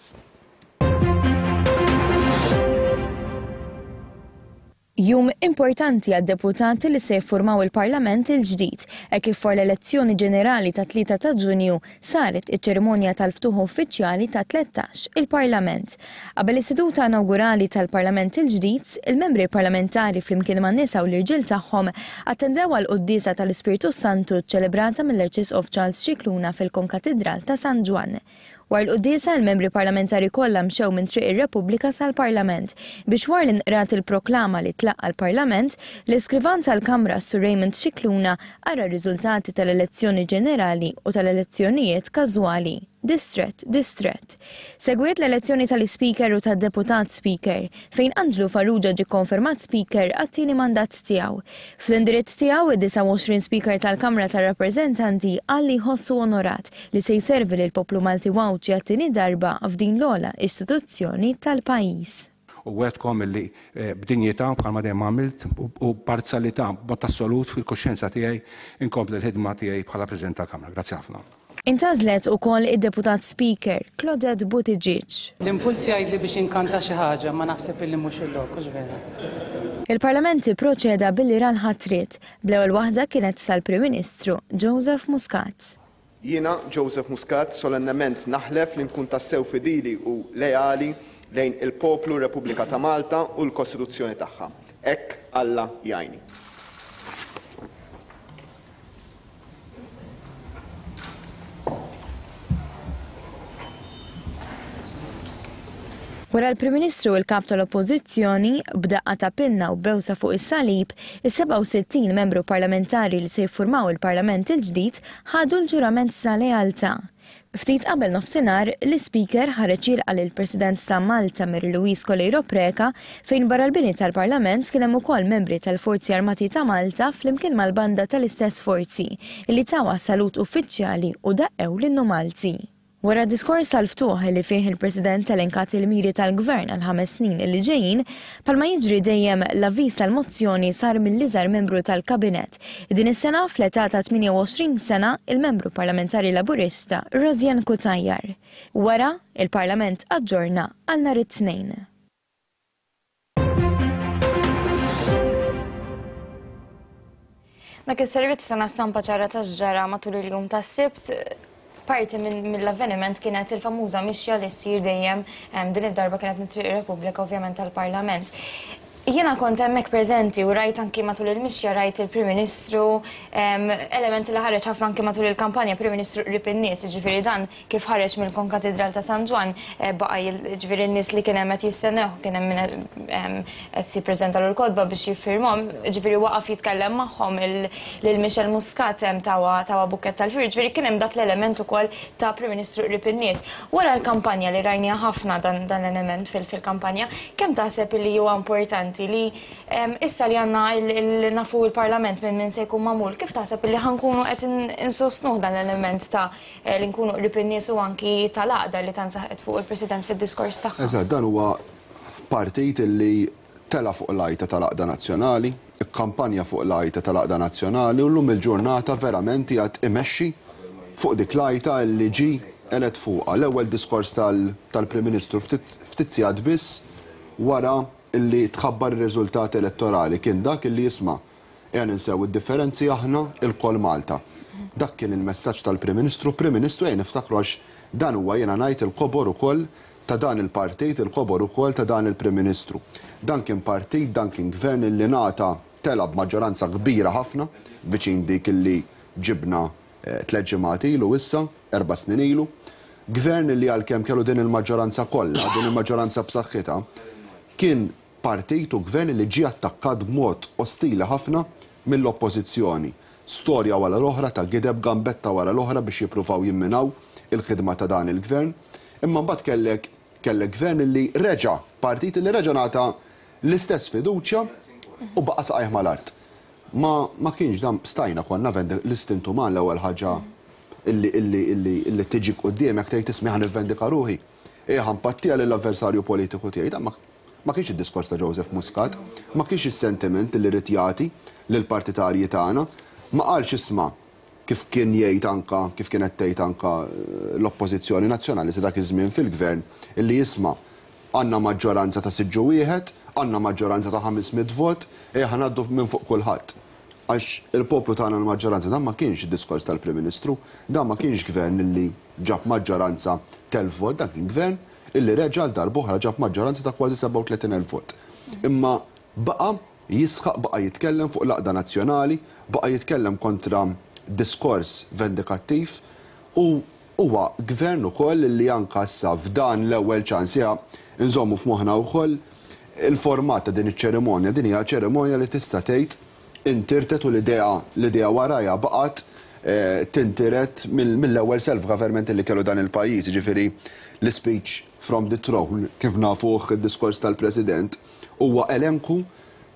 A: Jum importanti għad-deputati li se jiffurmaw il-Parlament il-ġdid, e kif for l-elezzjoni ġenerali ta' tlieta ta' Ġunju saret iċ-ċerimonja tal-ftuħ uffiċjali ta' tlettax il-Parlament. Qabel is-seduta inaugurali tal-Parlament il-ġdid, il-membri parlamentari flimkien man-nisa u l-irġiel tagħhom attendew għal quddiesa tal-Ispirtu Santu ċċelebrata mill-Arċisqof Charles Scicluna fil-Konkatidral ta' San Ġwann. Wara l-quddiesa, il-membri parlamentari kollha mxew minn Triq ir-Repubblika sal-Parlament biex wara li nqrat il-proklama li tlaqqa l-Parlament, l-iskrivan tal-Kamra Sur Raymond Scicluna qara r-riżultati tal-elezzjoni ġenerali u tal-elezzjonijiet każwali. Distret, distret. Segwiet l-elezzjoni tal-Speaker u tad-Deputat Speaker, fejn Anġlu Farrugia ġie konfermat Speaker għat-tieni mandat tiegħu. Fl-indirizz tiegħu id-disgħa u għoxrin Speaker tal-Kamra tar-Rappreżentanti qal li jħossu onorat li se jservi lil poplu Malti Għawdxi għat-tieni darba f'din l-ogħla istituzzjoni tal-pajjiż.
T: U għedkom illi, eh, b'dinjità bħalma dejjem għamilt u b'parzjalità b'mod assolut fil-kuxjenza tiegħi inkompli l-ħidma tiegħi bħala President tal-Kamra. Grazzi ħafna.
A: Intgħażlet ukoll id-Deputat Speaker Claudette Buttigieg.
U: L-impuls jgħidli biex inkanta xi ħaġa, ma naħseb illi mhux il-lok, hux vera.
A: Il-Parlament ipproċeda billi ra l-ħatriet, bl-ewwel waħda kienet sal-Prim Ministru Joseph Muscat.
V: Jiena Joseph Muscat solennement naħlef li nkun tassew fidili u leali lejn il-poplu Repubblika ta' Malta u l-Kostituzzjoni tagħha. Hekk Alla jgħinni.
A: Wara l-Prim Ministru u l-Kap tal-Oppożizzjoni b'daqqa ta' pinna u bewsa fuq is-salib, is-sebgħa u sittin membru parlamentari li se jiffurmaw il-Parlament il-ġdid ħadu l-ġurament sa lealtà. Ftit qabel nofsinhar, l-Ispeaker ħareġ jilqa' lill-President ta' Malta Mary Louise Coleiro Preca fejn barra l-bini tal-Parlament kien hemm ukoll membri tal-Forzi Armati ta' Malta flimkien mal-banda tal-istess forzi li tawha salut uffiċjali u daqqew l-innu Malti. Wara diskors tal-ftuħ li fih il-President elenkat il-miri tal-Gvern għal ħames snin li ġejjin, palma jiġri dejjem l-avviż tal-mozzjoni sar mill-iżgħar membru tal-Kabinett. Din is-sena fl-età ta' tmienja u għoxrin sena il-membru parlamentari Laburista Rosianne Cutajar. Wara, il-Parlament aġġorna għal nhar it-Tnejn. Dak is-servizz tana stampa ċara ta' x'ġara matul il-jum tas-Sibt. Parti mill-avveniment kienet il-famuża mixja li ssir dejjem, din id-darba kienet mit-Triq Repubblika ovvjament tal-Parlament. Jiena kont hemmhekk preżenti u rajt anki matul il-mixja rajt il-Prim Ministru, elementi li ħareġ ħafna anki matul il-kampanja, Prim Ministru qrib in-nies, jiġifieri dan kif ħareġ mill-Konkatidral ta' San Ġwann baqa' jiġifieri n-nies li kien hemm qed jistennew, kien hemm min qed jippreżentalu l-kotba biex jiffirmhom, jiġifieri waqaf jitkellem magħhom lil Michelle Muscat tawa tawa bukkett tal-fjur, jiġifieri kien hemm dak l-element ukoll ta' Prim Ministru qrib in-nies. Wara l-kampanja li rajniha ħafna dan l-element fil-kampanja, kemm taħseb li huwa importanti li issa li għandna nafu il-Parlament minn min se jkun magħmul, kif taħseb li ħankunu qed insostnuh dan l-element ta' li nkunu qrib in-nies u anki tal-għaqda li tant saħqet fuq il-President fid-diskors tagħha?
B: Eżatt, dan huwa partit li tela fuq l-għajta tal-għaqda nazzjonali, ikkampanja fuq l-għajta tal-għaqda nazzjonali u llum il-ġurnata verament qiegħed imexxi fuq dik l-għajta li ġie elett fuqha. L-ewwel diskors tal-Prim Ministru ftit sigħat biss wara illi tħabbar ir-riżultat elettorali kien dak illi jisma' ejja ninsew id-differenzi aħna il-kol Malta. Dak kien il-messaġġ tal-Prim Ministru. Prim Ministru ejja niftakru għax dan huwa jiena ngħid il-kobor ukoll ta' dan il-partit, il-kobor ukoll ta' dan il-Prim Ministru. Dan kien partit, dan kien gvern illi ngħata tela b'maġġoranza kbira ħafna, viċin dik illi ġibna tliet ġimgħat ilu issa, erba' snin ilu. Gvern illi għalkemm kellu din il-maġġoranza kollha, din il-maġġoranza b'saħħitha, kien partit u gvern li ġie attakkat b'mod ostili ħafna mill-oppożizzjoni. Storja wara l-oħra ta' gideb, gambetta wara l-oħra biex jippruvaw jimminaw il-ħidma ta' dan il-gvern. Imma mbagħad kellek kellek gvern li reġa', partit li reġa' ngħata l-istess fiduċja u baqa' saqajh mal-art. Ma, ma kienx dan stajna konna l-istintu uman l-ewwel ħaġa illi illi illi illi tiġi quddiemek tgħid ismi ħa nivvendika ruħi. Ejja ħa npattija lill-avversarju politiku tiegħi. Dan ma Ma kienx id-diskors ta' Joseph Muscat, ma kienx is-sentiment li rid jagħti lill-partitarji tagħna, ma qalx isma' kif kien jgħid anka, kif kienet tgħid anka l-Oppożizzjoni Nazzjonali sa dak iż-żmien fil-gvern, illi jisma' għandna maġġoranza ta' siġġu wieħed, għandna maġġoranza ta' ħames mitt vot, ejja ħa ngħaddu minn fuq kulħadd. Għax il-poplu tagħna l-maġġoranza, dan ma kienx id-diskors tal-Prim Ministru, dan ma kienx gvern illi ġab maġġoranza telf vot, dan kien gvern illi reġa' għal darb'oħra ġab maġġoranza ta' kważi sebgħa u tletin elf vot. Imma baqa' jisħaq, baqa' jitkellem fuq l-għaqda nazzjonali, baqa' jitkellem kontra diskors vendikattiv u huwa gvern ukoll li anka issa f'dan l-ewwel ċans ja nżommu f'moħħna wkoll il-format ta' din iċ-ċerimonja. Din hija ċerimonja li tista' tgħid intirtet u l-idea l-idea warajha baqgħet tintiret mill-ewwel self-government li kellu dan il-pajjiż, jiġifieri l-speech from the throne, kif nafuh id-diskors tal-President, huwa elenku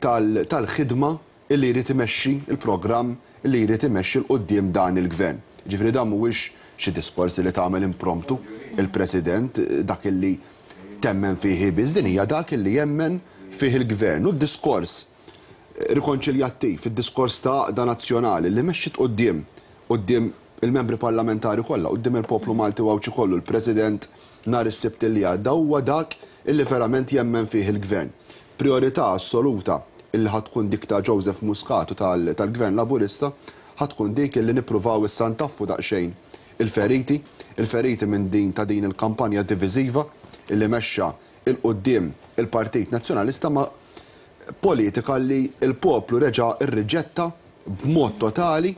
B: tal-ħidma illi jrid imexxi il-programm illi jrid imexxi l quddiem dan il-gvern. Ġifieri dan mhuwiex xi diskors li tagħmel impromptu il-President, dak illi temmen fih biss, din hija dak illi jemmen fih il-gvern. U d-diskors rikonċiljattiv, id-diskors ta' għaqda nazzjonali li mexxiet quddiem quddiem il-membri parlamentari kollha, quddiem il-poplu Malti u Għawdxi kollu, il-President nhar is-Sibt li għadda, huwa dak illi verament jemmen fih il-gvern. Priorità assoluta illi ħatkun dik ta' Joseph Muscat u tal-Gvern Laburista ħatkun dik illi nippruvaw issa ntaffu daqsxejn il-feriti, il-feriti minn din ta' din il-kampanja diviżiva illi mexxa il-quddiem il-Partit Nazzjonalista ma' politika li il-poplu reġa' irriġetta b'mod totali,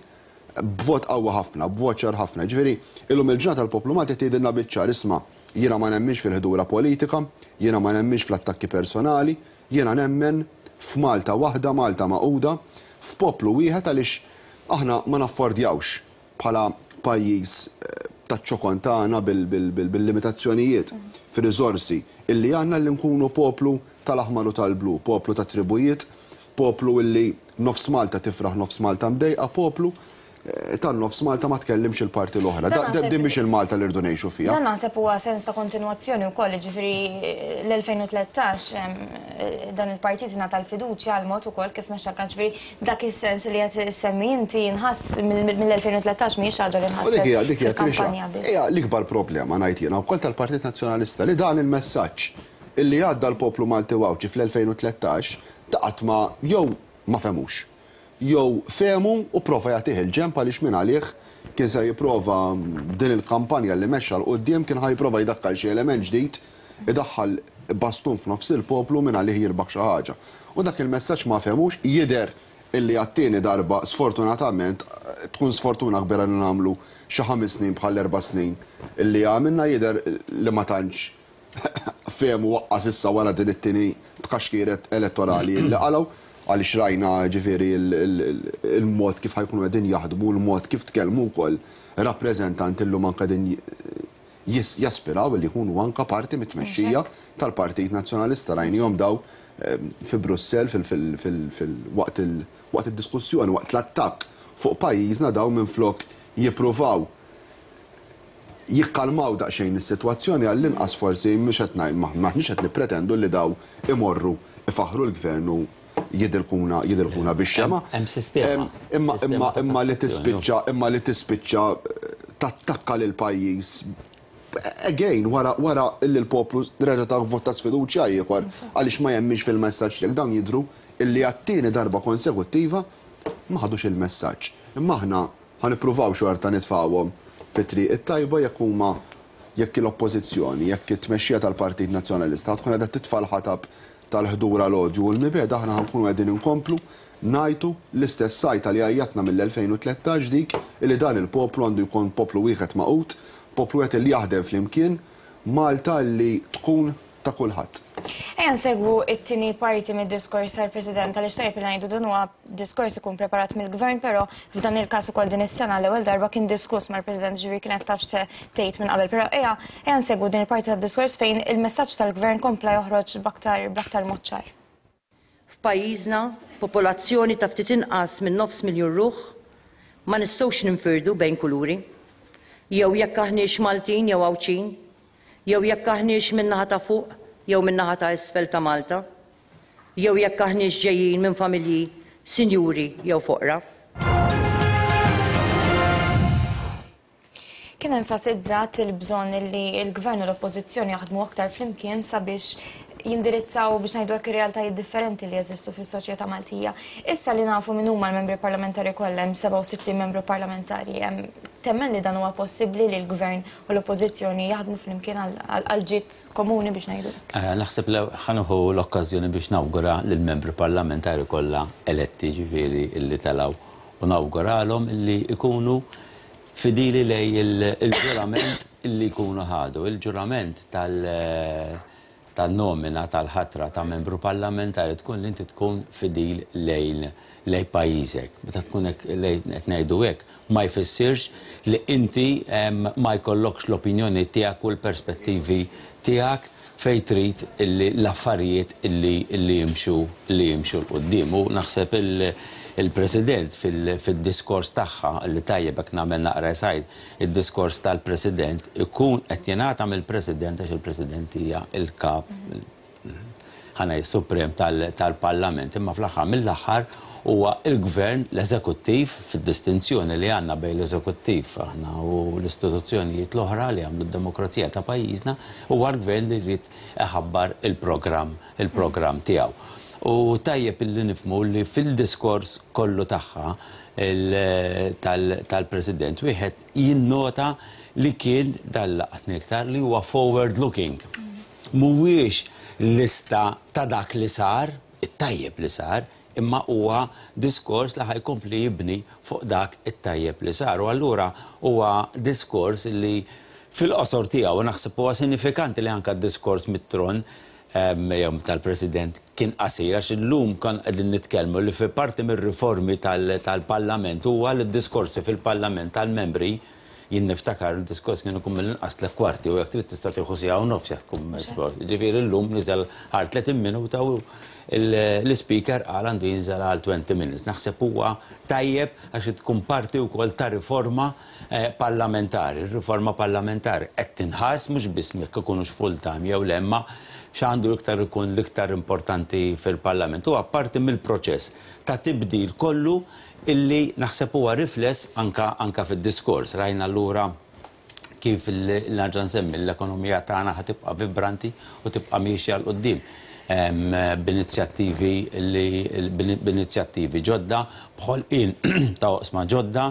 B: b'vot qawwa ħafna, b'vot ċar ħafna. Ġifieri, illum il-ġurnata tal-poplu Malti tgħidilna biċ-ċar, isma' jiena ma nemminx fil-ħdura politika, jiena ma nemminx fl-attakki personali, jiena nemmen f'Malta waħda, Malta magħquda, f'poplu wieħed, għaliex aħna ma naffordjawx bħala pajjiż taċ-ċokon tagħna bil-limitazzjonijiet fir-riżorsi illi għandna li nkunu poplu tal-aħmar u tal-blu, poplu ta' tribujiet, poplu illi nofs Malta tifraħ, nofs Malta mdejqa, poplu tan-nofs Malta ma tkellimx il-parti l-oħra. Din mhix il-Malta li rridu ngħixu fiha.
A: Dan naħseb huwa sens ta' kontinwazzjoni wkoll, jiġifieri l-elfejn u tlettax dan il-partit ingħata l-fiduċja għal mod ukoll kif mexxa l-kanċ, ġifieri dak is-sens li qed issemmi inti nħass mill-elfejn u tlettax mhijiex ħaġa li nħasset fil-kampanja biss.
B: Hija l-ikbar problema ngħid jiena wkoll tal-Partit Nazzjonalista li dan il-messaġġ illi għadda l-poplu Malti u Għawdxi fl-elfejn u tlettax ta' qatt ma jew ma fehmux, jew fehmu u prova jagħtih il-ġenb għaliex minn għalih kien se jipprova din il-kampanja li mexxa 'l quddiem kien ħa jipprova jdaħħal xi element ġdid, idaħħal bastun f'nofs il-poplu minn għalih jirbaħ xi ħaġa. U dak il-messaġġ ma fehmux, jidher illi għat-tieni darba sfortunatament tkun sfortuna kbira li nagħmlu xi ħames snin bħal erba' snin illi għamilna, jidher li ma tantx fehmu waqqas issa wara din it-tieni tkaxkir elettorali li qalgħu, għaliex rajna ġifieri il-mod kif ħa jkunu qegħdin jaħdmu, il-mod kif tkellmu wkoll rappreżentanti llum anke din jaspiraw li jkunu anke parti mit-tmexxija tal-Partit Nazzjonalista. Rajnihom daw fi Brussell waqt id-diskussjoni, waqt l-attakk fuq pajjiżna, daw minflok jippruvaw jikkalmaw daqsxejn is-sitwazzjoni għall-inqas forsi mhux qed m'aħniex qed nippretendu li daw imorru ifaħru l-gvern u jidilkuna jidilkuna bix-xema.
S: Hemm sistema.
B: Imma imma imma li tispiċċa imma li tispiċċa tattakka lil pajjiż again wara wara illi l-poplu reġa' ta' vot ta' sfiduċja ieħor għaliex ma jemminx fil-messaġġ tiegħek. Dawn jidhru illi għat-tieni darba konsekuttiva ma ħadux il-messaġġ. Imma aħna ħa nippruvaw xorta nitfgħuhom fit-triq it-tajba jekk huma jekk l-oppożizzjoni, jekk it-tmexxija tal-Partit Nazzjonalista tkun qiegħda titfa' l-ħatab tal-ħdura l-odju u l-mibeda, aħna ħankunu qegħdin inkomplu ngħidu l-istess sajta li għajjatna mill-elfejn u tlettax, dik li dan il-poplu għandu jkun poplu wieħed magħqud, poplu wieħed li jaħdem flimkien, Malta li tkun ta' kulħadd.
A: Ejja nsegwu it-tieni parti mid-diskors tal-President, għaliex tajjeb li ngħidu dan huwa diskors ikun preparat mill-Gvern, però f'dan il-każ ukoll din is-sena l-ewwel darba kien diskuss mal-President, ġifieri kienet taf se tgħid minn qabel. Però ejja ejja nsegwu din il-parti tad-diskors fejn il-messaġġ tal-Gvern kompla joħroġ b'aktar b'aktar mod ċar.
R: F'pajjiżna, popolazzjoni ta' ftit inqas minn nofs miljun ruħ, ma nistgħux ninfirdu bejn kuluri, jew jekk aħniex Maltin jew Għawdxin, jew jekk aħniex min-naħa ta' fuq jew min-naħa ta' isfel ta' Malta, jew jekk aħniex ġejjin minn familji sinjuri jew foqra.
A: Kien enfasizzat il-bżonn li l-Gvern u l-Oppożizzjoni jaħdmu aktar flimkien sabiex jindirizzaw biex ngħidu hekk ir-realtajiet differenti li jeżistu fis-soċjetà Maltija. Issa li nafu min huma l-membri parlamentari kollha, hemm sebgħa u sittin membru parlamentari, hemm temmen li dan huwa possibbli li l-Gvern u l-Oppożizzjoni jaħdmu flimkien għal ġid komuni biex ngħidu hekk?
S: Naħseb li ħa nieħu l-okkażjoni biex nawgura lill-membri parlamentari kollha eletti, ġifieri illi telgħu, u nawguralhom illi jkunu fidili lej il-ġurament illi jkunu ħadu, il-ġurament tal- tan-nomina tal-ħatra ta' membru parlamentari tkun li inti tkun fidil lejn lejn pajjiżek. Meta tkun hekk qed ngħidu hekk, ma jfissirx li inti ma jkollokx l-opinjoni tiegħek u l-perspettivi tiegħek fejn trid illi l-affarijiet illi illi jimxu li jimxu 'l quddiem. U naħseb il-President fil-diskors tagħha li tajjeb hekk nagħmel naqra sajd, id-diskors tal-President ikun qed jingħata mill-President għax il-President hija l-kap ħana suprem tal-Parlament, imma fl-aħħar mill-aħħar huwa il-Gvern, l-Eżekuttiv, fid-distinzjoni li għandna bejn l-Eżekuttiv aħna u l-istituzzjonijiet l-oħra li għamlu d-demokrazija ta' pajjiżna, huwa l-Gvern li jrid iħabbar il-programm il-programm tiegħu. U tajjeb illi nifhmu li fil-diskors kollu tagħha tal-President wieħed jinnota li kien dal-laqatni iktar li huwa forward looking. Mhuwiex lista ta' dak li sar, it-tajjeb li sar, imma huwa diskors li ħajkompli jibni fuq dak it-tajjeb li sar. U allura huwa diskors li fil-qosor tiegħu naħseb huwa sinifikanti li anke d-diskors mit-tron jew tal-President kien qasir, għax illum kon qegħdin nitkellmu li fi parti mir-riformi tal-Parlament huwa li d-diskorsi fil-Parlament tal-membri, jien niftakar il-diskors kien ikun mill-inqas tliet kwarti u jekk trid tista' tieħu siegħa u nofs jekk tkun esport. Ġifieri llum niżel għal tletin minuta u l-speaker qal għandu jinżel għal twenty minutes. Naħseb huwa tajjeb għax tkun parti wkoll ta' riforma parlamentari. Ir-riforma parlamentari qed tinħass mhux biss jekk ikunux full time jew le, imma x'għandu iktar ikun l-iktar importanti fil-Parlament. Huwa parti mill-proċess ta' tibdil kollu illi naħseb huwa rifless anka anka fid-diskors. Rajna allura kif nerġa' nsemmi l-ekonomija tagħna ħa tibqa' vibranti u tibqa' miexja 'l quddiem. b'inizjattivi li b'inizjattivi ġodda, b'ħolqien ta' oqsma ġodda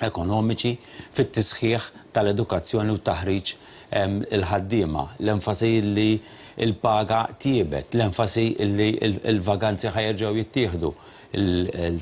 S: ekonomiċi, fit-tisħiħ tal-edukazzjoni u taħriġ il-ħaddiema, l-enfasi li il-paga tjiebet, l-enfasi li il-vaganzi ħa jerġgħu jittieħdu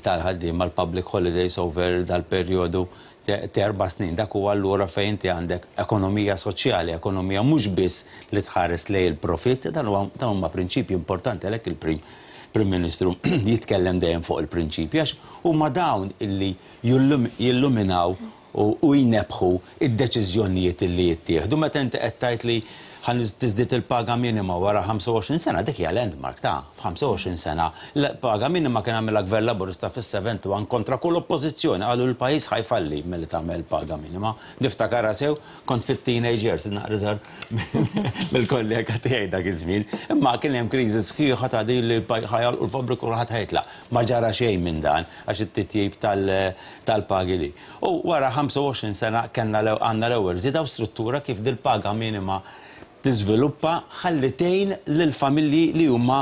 S: tal-ħaddiema, l-public holidays over dal-perjodu ta' erba' snin. Dak huwa allura fejn inti għandek ekonomija soċjali, ekonomija mhux biss li tħares lejn il-profit. Dan huma prinċipji importanti, għalhekk il-Prim Prim Ministru jitkellem dejjem fuq il-prinċipji, għax huma dawn illi jilluminaw u jnebħu id-deċiżjonijiet illi jittieħdu. Meta inti qed tgħid li ħa tiżdied il-paga minima wara ħamsa u għoxrin sena, dik hija landmark ta' ħamsa u għoxrin sena. L-paga minima kien għamilha gvern Laburista fis-sebgħa u sebgħin kontra kull oppożizzjoni, qalu l-pajjiż ħa jfalli milli tagħmel paga minima. Niftakar sew, kont fit-teenagers, naqra mill-kollega tiegħi dak iż-żmien, imma kien hemm kriżi sħiħa ta' din li ħa jagħlqu l-fabbriku u ħadd ħa jitlaq. Ma ġara xejn minn dan għax it-titjib tal-pagi li. U wara ħamsa u għoxrin sena kellna għandna l-ewwel żieda u struttura kif dil-paga minima tiżviluppa ħalli tgħin lill-familji li huma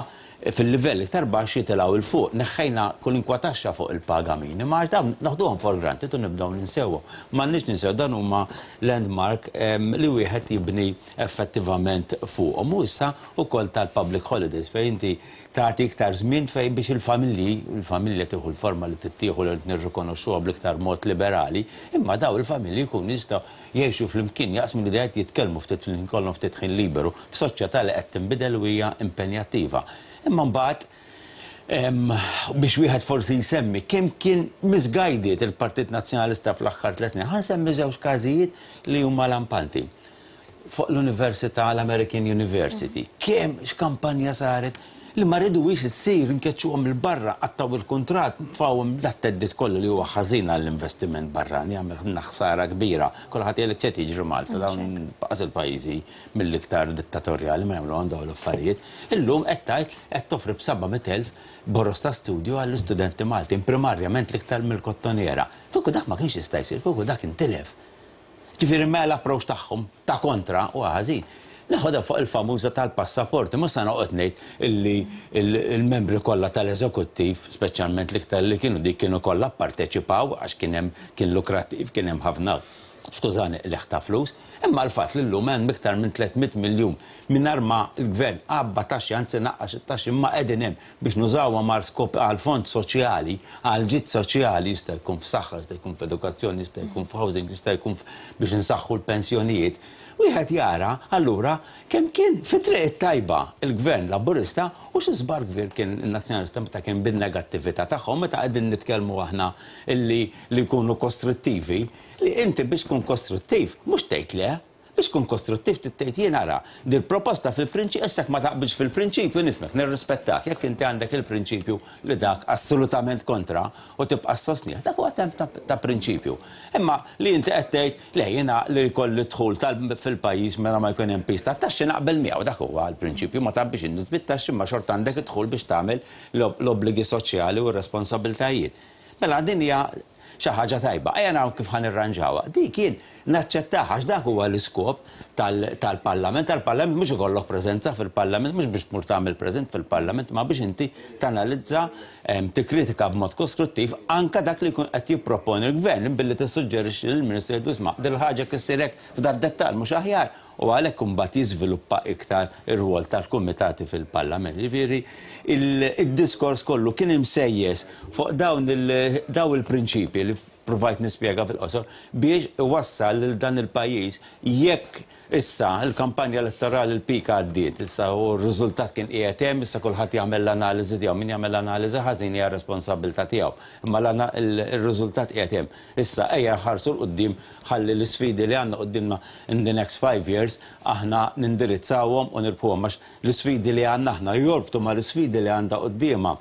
S: fil-livell iktar baxx jitilgħu 'l fuq. Neħħejna kwalunkwe taxxa fuq il-paga minima għax dawn naħduhom for granted u nibdew ninsewhom. M'għandniex ninsew, dan huma landmark li wieħed jibni effettivament fuqhom. U issa wkoll tal-public holidays, fejn inti tagħti iktar żmien fejn biex il-familji, il-familja tieħu l-forma li tittieħu li nirrikonoxxuha bl-iktar mod liberali, imma daw il-familji jkunu jistgħu jgħixu flimkien, jaqsmu l-idejat, jitkellmu ftit fil kollhom ftit ħin liberu f'soċjetà li qed tinbidel u hija impenjattiva. Imma mbagħad, biex wieħed forsi jsemmi kemm kien misguided il-Partit Nazzjonalista fl-aħħar tliet snin, ħa nsemmi żewġ każijiet li huma lampanti. Fuq l-Università, l-American University, kemm x'kampanja saret li ma ridux issir, nkeċċuhom 'il barra, qattgħu il-kuntratt, tfawhom dat-theddid kollu li huwa ħażin għall-investiment barrani, jagħmel ħsara kbira. Kulħadd jgħid ċed jiġri Malta, dawn baqas il-pajjiżi mill-iktar dittatorjali ma jagħmlu dawn l-affarijiet. Illum qed tgħid qed toffri b'seba' elef boroż ta' studju għall-istudenti Maltin, primarjament l-iktar mill-Kottonera. Kieku dak ma kienx jista' jsir, kieku dak intilef. Ġifieri mela l-approach tagħhom ta' kontra u ħażin. Neħodha fuq il-famuża tal-passaporti, mhux se noqgħod ngħid illi il-membri kollha tal-eżekuttiv, speċjalment l-iktar li kienu dik, kienu kollha pparteċipaw għax kien hemm kien lukrattiv, kien hemm ħafna, skużani, qligħ ta' flus, imma l-fatt li llum hemm iktar minn tliet mitt miljun mingħajr ma l-gvern għabba taxxi, anzi naqqax it-taxxi, imma qegħdin hemm biex nużawha mar skop għal fond soċjali, għal ġid soċjali, jista' jkun f'saħħa, jista' jkun f'edukazzjoni, jista' jkun f'housing, jista' jkun biex insaħħu l-pensjonijiet. Wieħed jara allura kemm kien fi triq tajba il-gvern Laburista u xi żbar kbir kien in-Nazzjonalista meta kien bin-negattività tagħhom. Meta qegħdin nitkellmu aħna illi li jkunu kostruttivi, li inti biex tkun kostruttiv mhux tgħid le, biex tkun kostruttiv tgħid jien ara dil-proposta fil-prinċipju, issa ma taqbilx fil-prinċipju, nifhmek, nirrispettak, jekk inti għandek il-prinċipju li dak assolutament kontra u tibqa' sostnih, dak huwa tem ta' prinċipju. Imma li inti qed tgħid le, jiena li jkolli dħul fil-pajjiż mela ma jkun hemm piż ta' taxxi, naqbel miegħu, dak huwa l-prinċipju, ma tgħabbix in-nies bit-taxxi, ma xorta għandek idħul biex tagħmel l-obbligi soċjali u r-responsabbiltajiet. Mela din hija xi ħaġa tajba. Ejja naraw kif ħa nirranġawha. Dik kien naċċettaha għax dak huwa l-iskop tal-Parlament. Tal-Parlament mhux ikollok preżenza fil-Parlament, mhux biex tmur tagħmel preżent fil-Parlament, ma biex inti tanalizza, tikkritika b'mod kostruttiv anka dak li jkun qed jipproponi l-gvern billi tissuġġerixxi lill-Ministru, jgħidu isma', dil-ħaġa kissirek f'dat dettall mhux aħjar, u għalhekk imbagħad jiżviluppa iktar ir-rwol tal-kumitati fil-Parlament. Jiġifieri il-diskors kollu kien imsejjes fuq dawn daw il-prinċipji li provajt nispjega fil-qosor biex iwassal lil dan il-pajjiż. Jekk issa il-kampanja elettorali, l-pika għaddiet, issa u r-riżultat kien qiegħed hemm, issa kulħadd jagħmel l-analiżi tiegħu, min jagħmel l-analiżi ħażin hija responsabilità tiegħu. Imma il-riżultat qiegħed hemm. Issa ejja nħarsu 'l quddiem ħalli l-isfidi li għandna quddiemna in the next five years aħna nindirizzawhom u nirbħuhom, għax l-isfidi li għandna aħna jorbtu ma l-isfidi li għandha quddiemha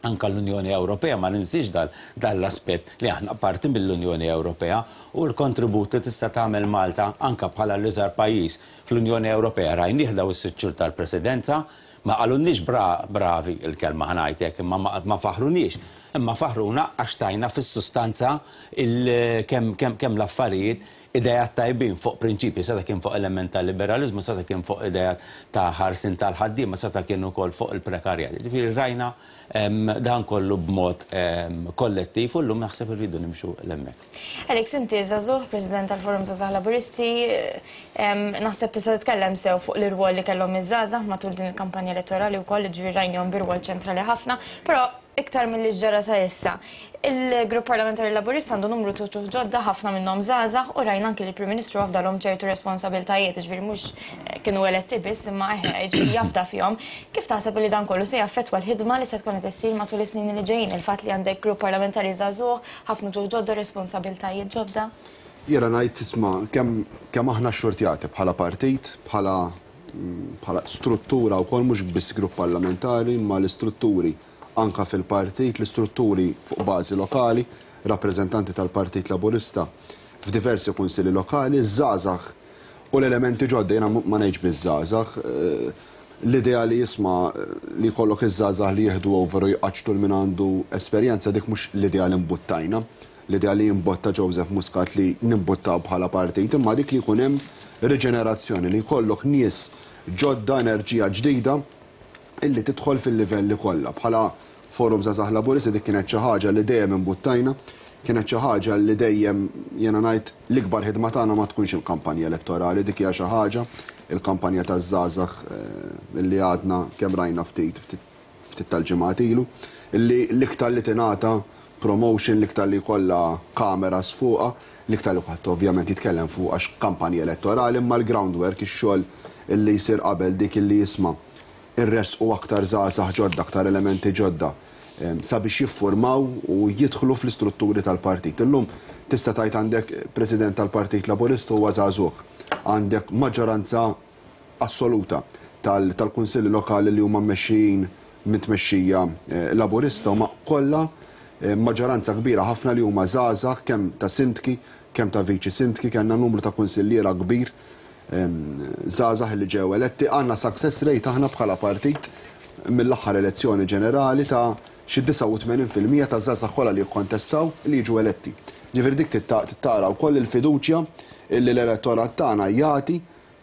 S: anka l-Unjoni Ewropea. Ma ninsix dan l-aspett li aħna parti mill-Unjoni Ewropea u l-kontribut li tista' tagħmel Malta anka bħala l-iżgħar pajjiż fl-Unjoni Ewropea rajnieh daw is-sitt xhur tal-Presidenza. Ma qalulniex bravi, il-kelma ħa ngħidlek, imma ma faħruniex. Imma faħruna għax tajna fis-sustanza kemm l-affarijiet Idejat tajbin fuq prinċipji, seta' kien fuq element ta' liberalizmu, seta' kien fuq idejat ta' ħarsin tal-ħaddiema, seta' kien ukoll fuq il-prekarjat. Ġifieri rajna dan kollu b'mod kollettiv u llum naħseb irridu nimxu l-hemmhekk.
A: Alex, inti żagħżugħ, President tal-Forum Żgħażagħ Laburisti, naħseb tista' titkellem sew fuq l-irwol li kellhom iż-żgħażagħ matul din il-kampanja elettorali wkoll, ġifieri rajnihom b'irwol ċentrali ħafna, però iktar milli ġara sa issa. Il-Grupp Parlamentari Laburista għandu numru ta' ġodda, ħafna minnhom żgħażagħ, u rajna anki li l-Prim Ministru afdalhom ċertu responsabiltajiet, ġifieri mhux kienu eletti biss imma ġifieri jafda fihom. Kif taħseb li dan kollu se jaffettwa l-ħidma li se tkun qed issir matul is-snin li ġejjin, il-fatt li għandek grupp parlamentari żagħżugħ, ħafna ġodda, responsabiltajiet ġodda?
B: Jiena ngħid isma' kemm kemm aħna xxurtjati bħala partit, bħala bħala struttura wkoll, mhux biss grupp parlamentari, imma l-istrutturi anka fil-partit, l-istrutturi fuq bażi lokali, rappreżentanti tal-Partit Laburista f'diversi kunsilli lokali, żgħażagħ u l-elementi ġodda. Jiena ma ngħidx biż-żgħażagħ, l-idea li jisma' li jkollok iż-żgħażagħ li jieħdu over u jqaċċtu l min għandu esperjenza, dik mhux l-idea li mbuttajna, l-idea li jimbotta Joseph Muscat li nimbuttaw bħala partit, imma dik li jkun hemm riġenerazzjoni, li jkollok nies ġodda, enerġija ġdida illi tidħol fil-livelli kollha. Bħala Forum Żgħażagħ Laburisti dik kienet xi ħaġa li dejjem imbuttajna, kienet xi ħaġa li dejjem jiena ngħid l-ikbar ħidma tagħna ma tkunx il-kampanja elettorali, dik hija xi ħaġa, il-kampanja taż-żgħażagħ illi għadna kemm rajna ftit ftit tal-ġimgħat ilu, illi l-iktar li tingħata promotion, l-iktar li jkollha kameras fuqha, l-iktar li ħadd ovvjament jitkellem fuq għax kampanja elettorali, imma l-groundwork, ix-xogħol illi jsir qabel dik illi jisma' irresqu aktar żgħażagħ ġodda, aktar elementi ġodda sabiex jiffurmaw u jidħlu fl-istrutturi tal-partit. Illum tista' tgħid għandek President tal-Partit Laburista huwa żagħżugħ, għandek maġġoranza assoluta tal-kunsilli lokali li huma mmexxijin minn tmexxija Laburista, huma kollha maġġoranza kbira ħafna li huma żgħażagħ, kemm ta' sindki, kemm ta' viċi sindki, kellna numru ta' kunsilliera kbir żgħażagħ li ġew eletti. Għandna success rate aħna bħala partit mill-aħħar elezzjoni ġenerali ta' xi disgħa u tmenin fil-mija ta' żgħażagħ kollha li jikkontestaw li jiġu eletti. Ġifieri dik tittara wkoll il-fiduċja li l-elettorat tagħna jagħti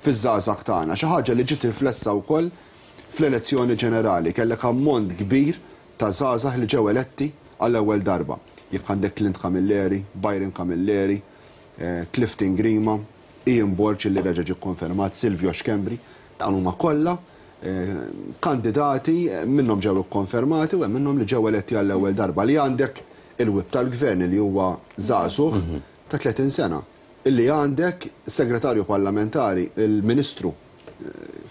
B: fiż-żgħażagħ tagħna, xi ħaġa li ġiet riflessa wkoll fl-elezzjoni ġenerali. Kellek ammont kbir ta' żgħażagħ li ġew eletti għall-ewwel darba. Jekk għandek Clint Camilleri, Byron Camilleri, Clifton Grima, Ian Borg li reġa' ġie kkonfermat, Silvio Schembri, dawn huma kollha kandidati, minnhom ġew ikkonfermati u hemm minnhom li ġew eletti għall-ewwel darba. Li għandek il-whip tal-gvern li huwa żagħżugħ ta' tletin sena, illi għandek segretarju parlamentari, il-Ministru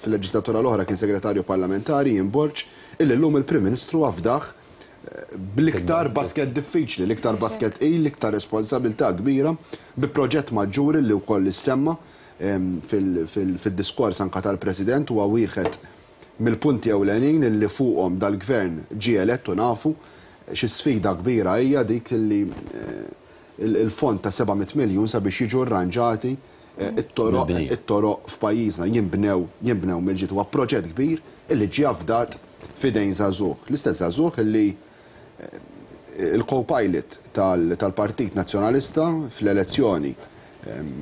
B: fil-leġislatura l-oħra kien segretarju parlamentari Ian Borg, illi llum il-Prim Ministru afdaħ bl-iktar basket diffiċli, l-iktar basket il, l-iktar responsabilità kbira, bi proġett maġġuri li wkoll issemma fil-diskors anka tal-President, huwa wieħed mill-punti ewlenin illi fuqhom dal-gvern ġie elett u nafu xi sfida kbira hija dik illi il-fond ta' seba' mitt miljun sabiex jiġu rranġati it-toroq it-toroq f'pajjiżna jinbnew jinbnew mill-ġid. Huwa proġett kbir illi ġie afdat f'idejn żagħżugħ. L-istess żagħżugħ illi il-co-pilot tal-Partit Nazzjonalista fl-elezzjoni,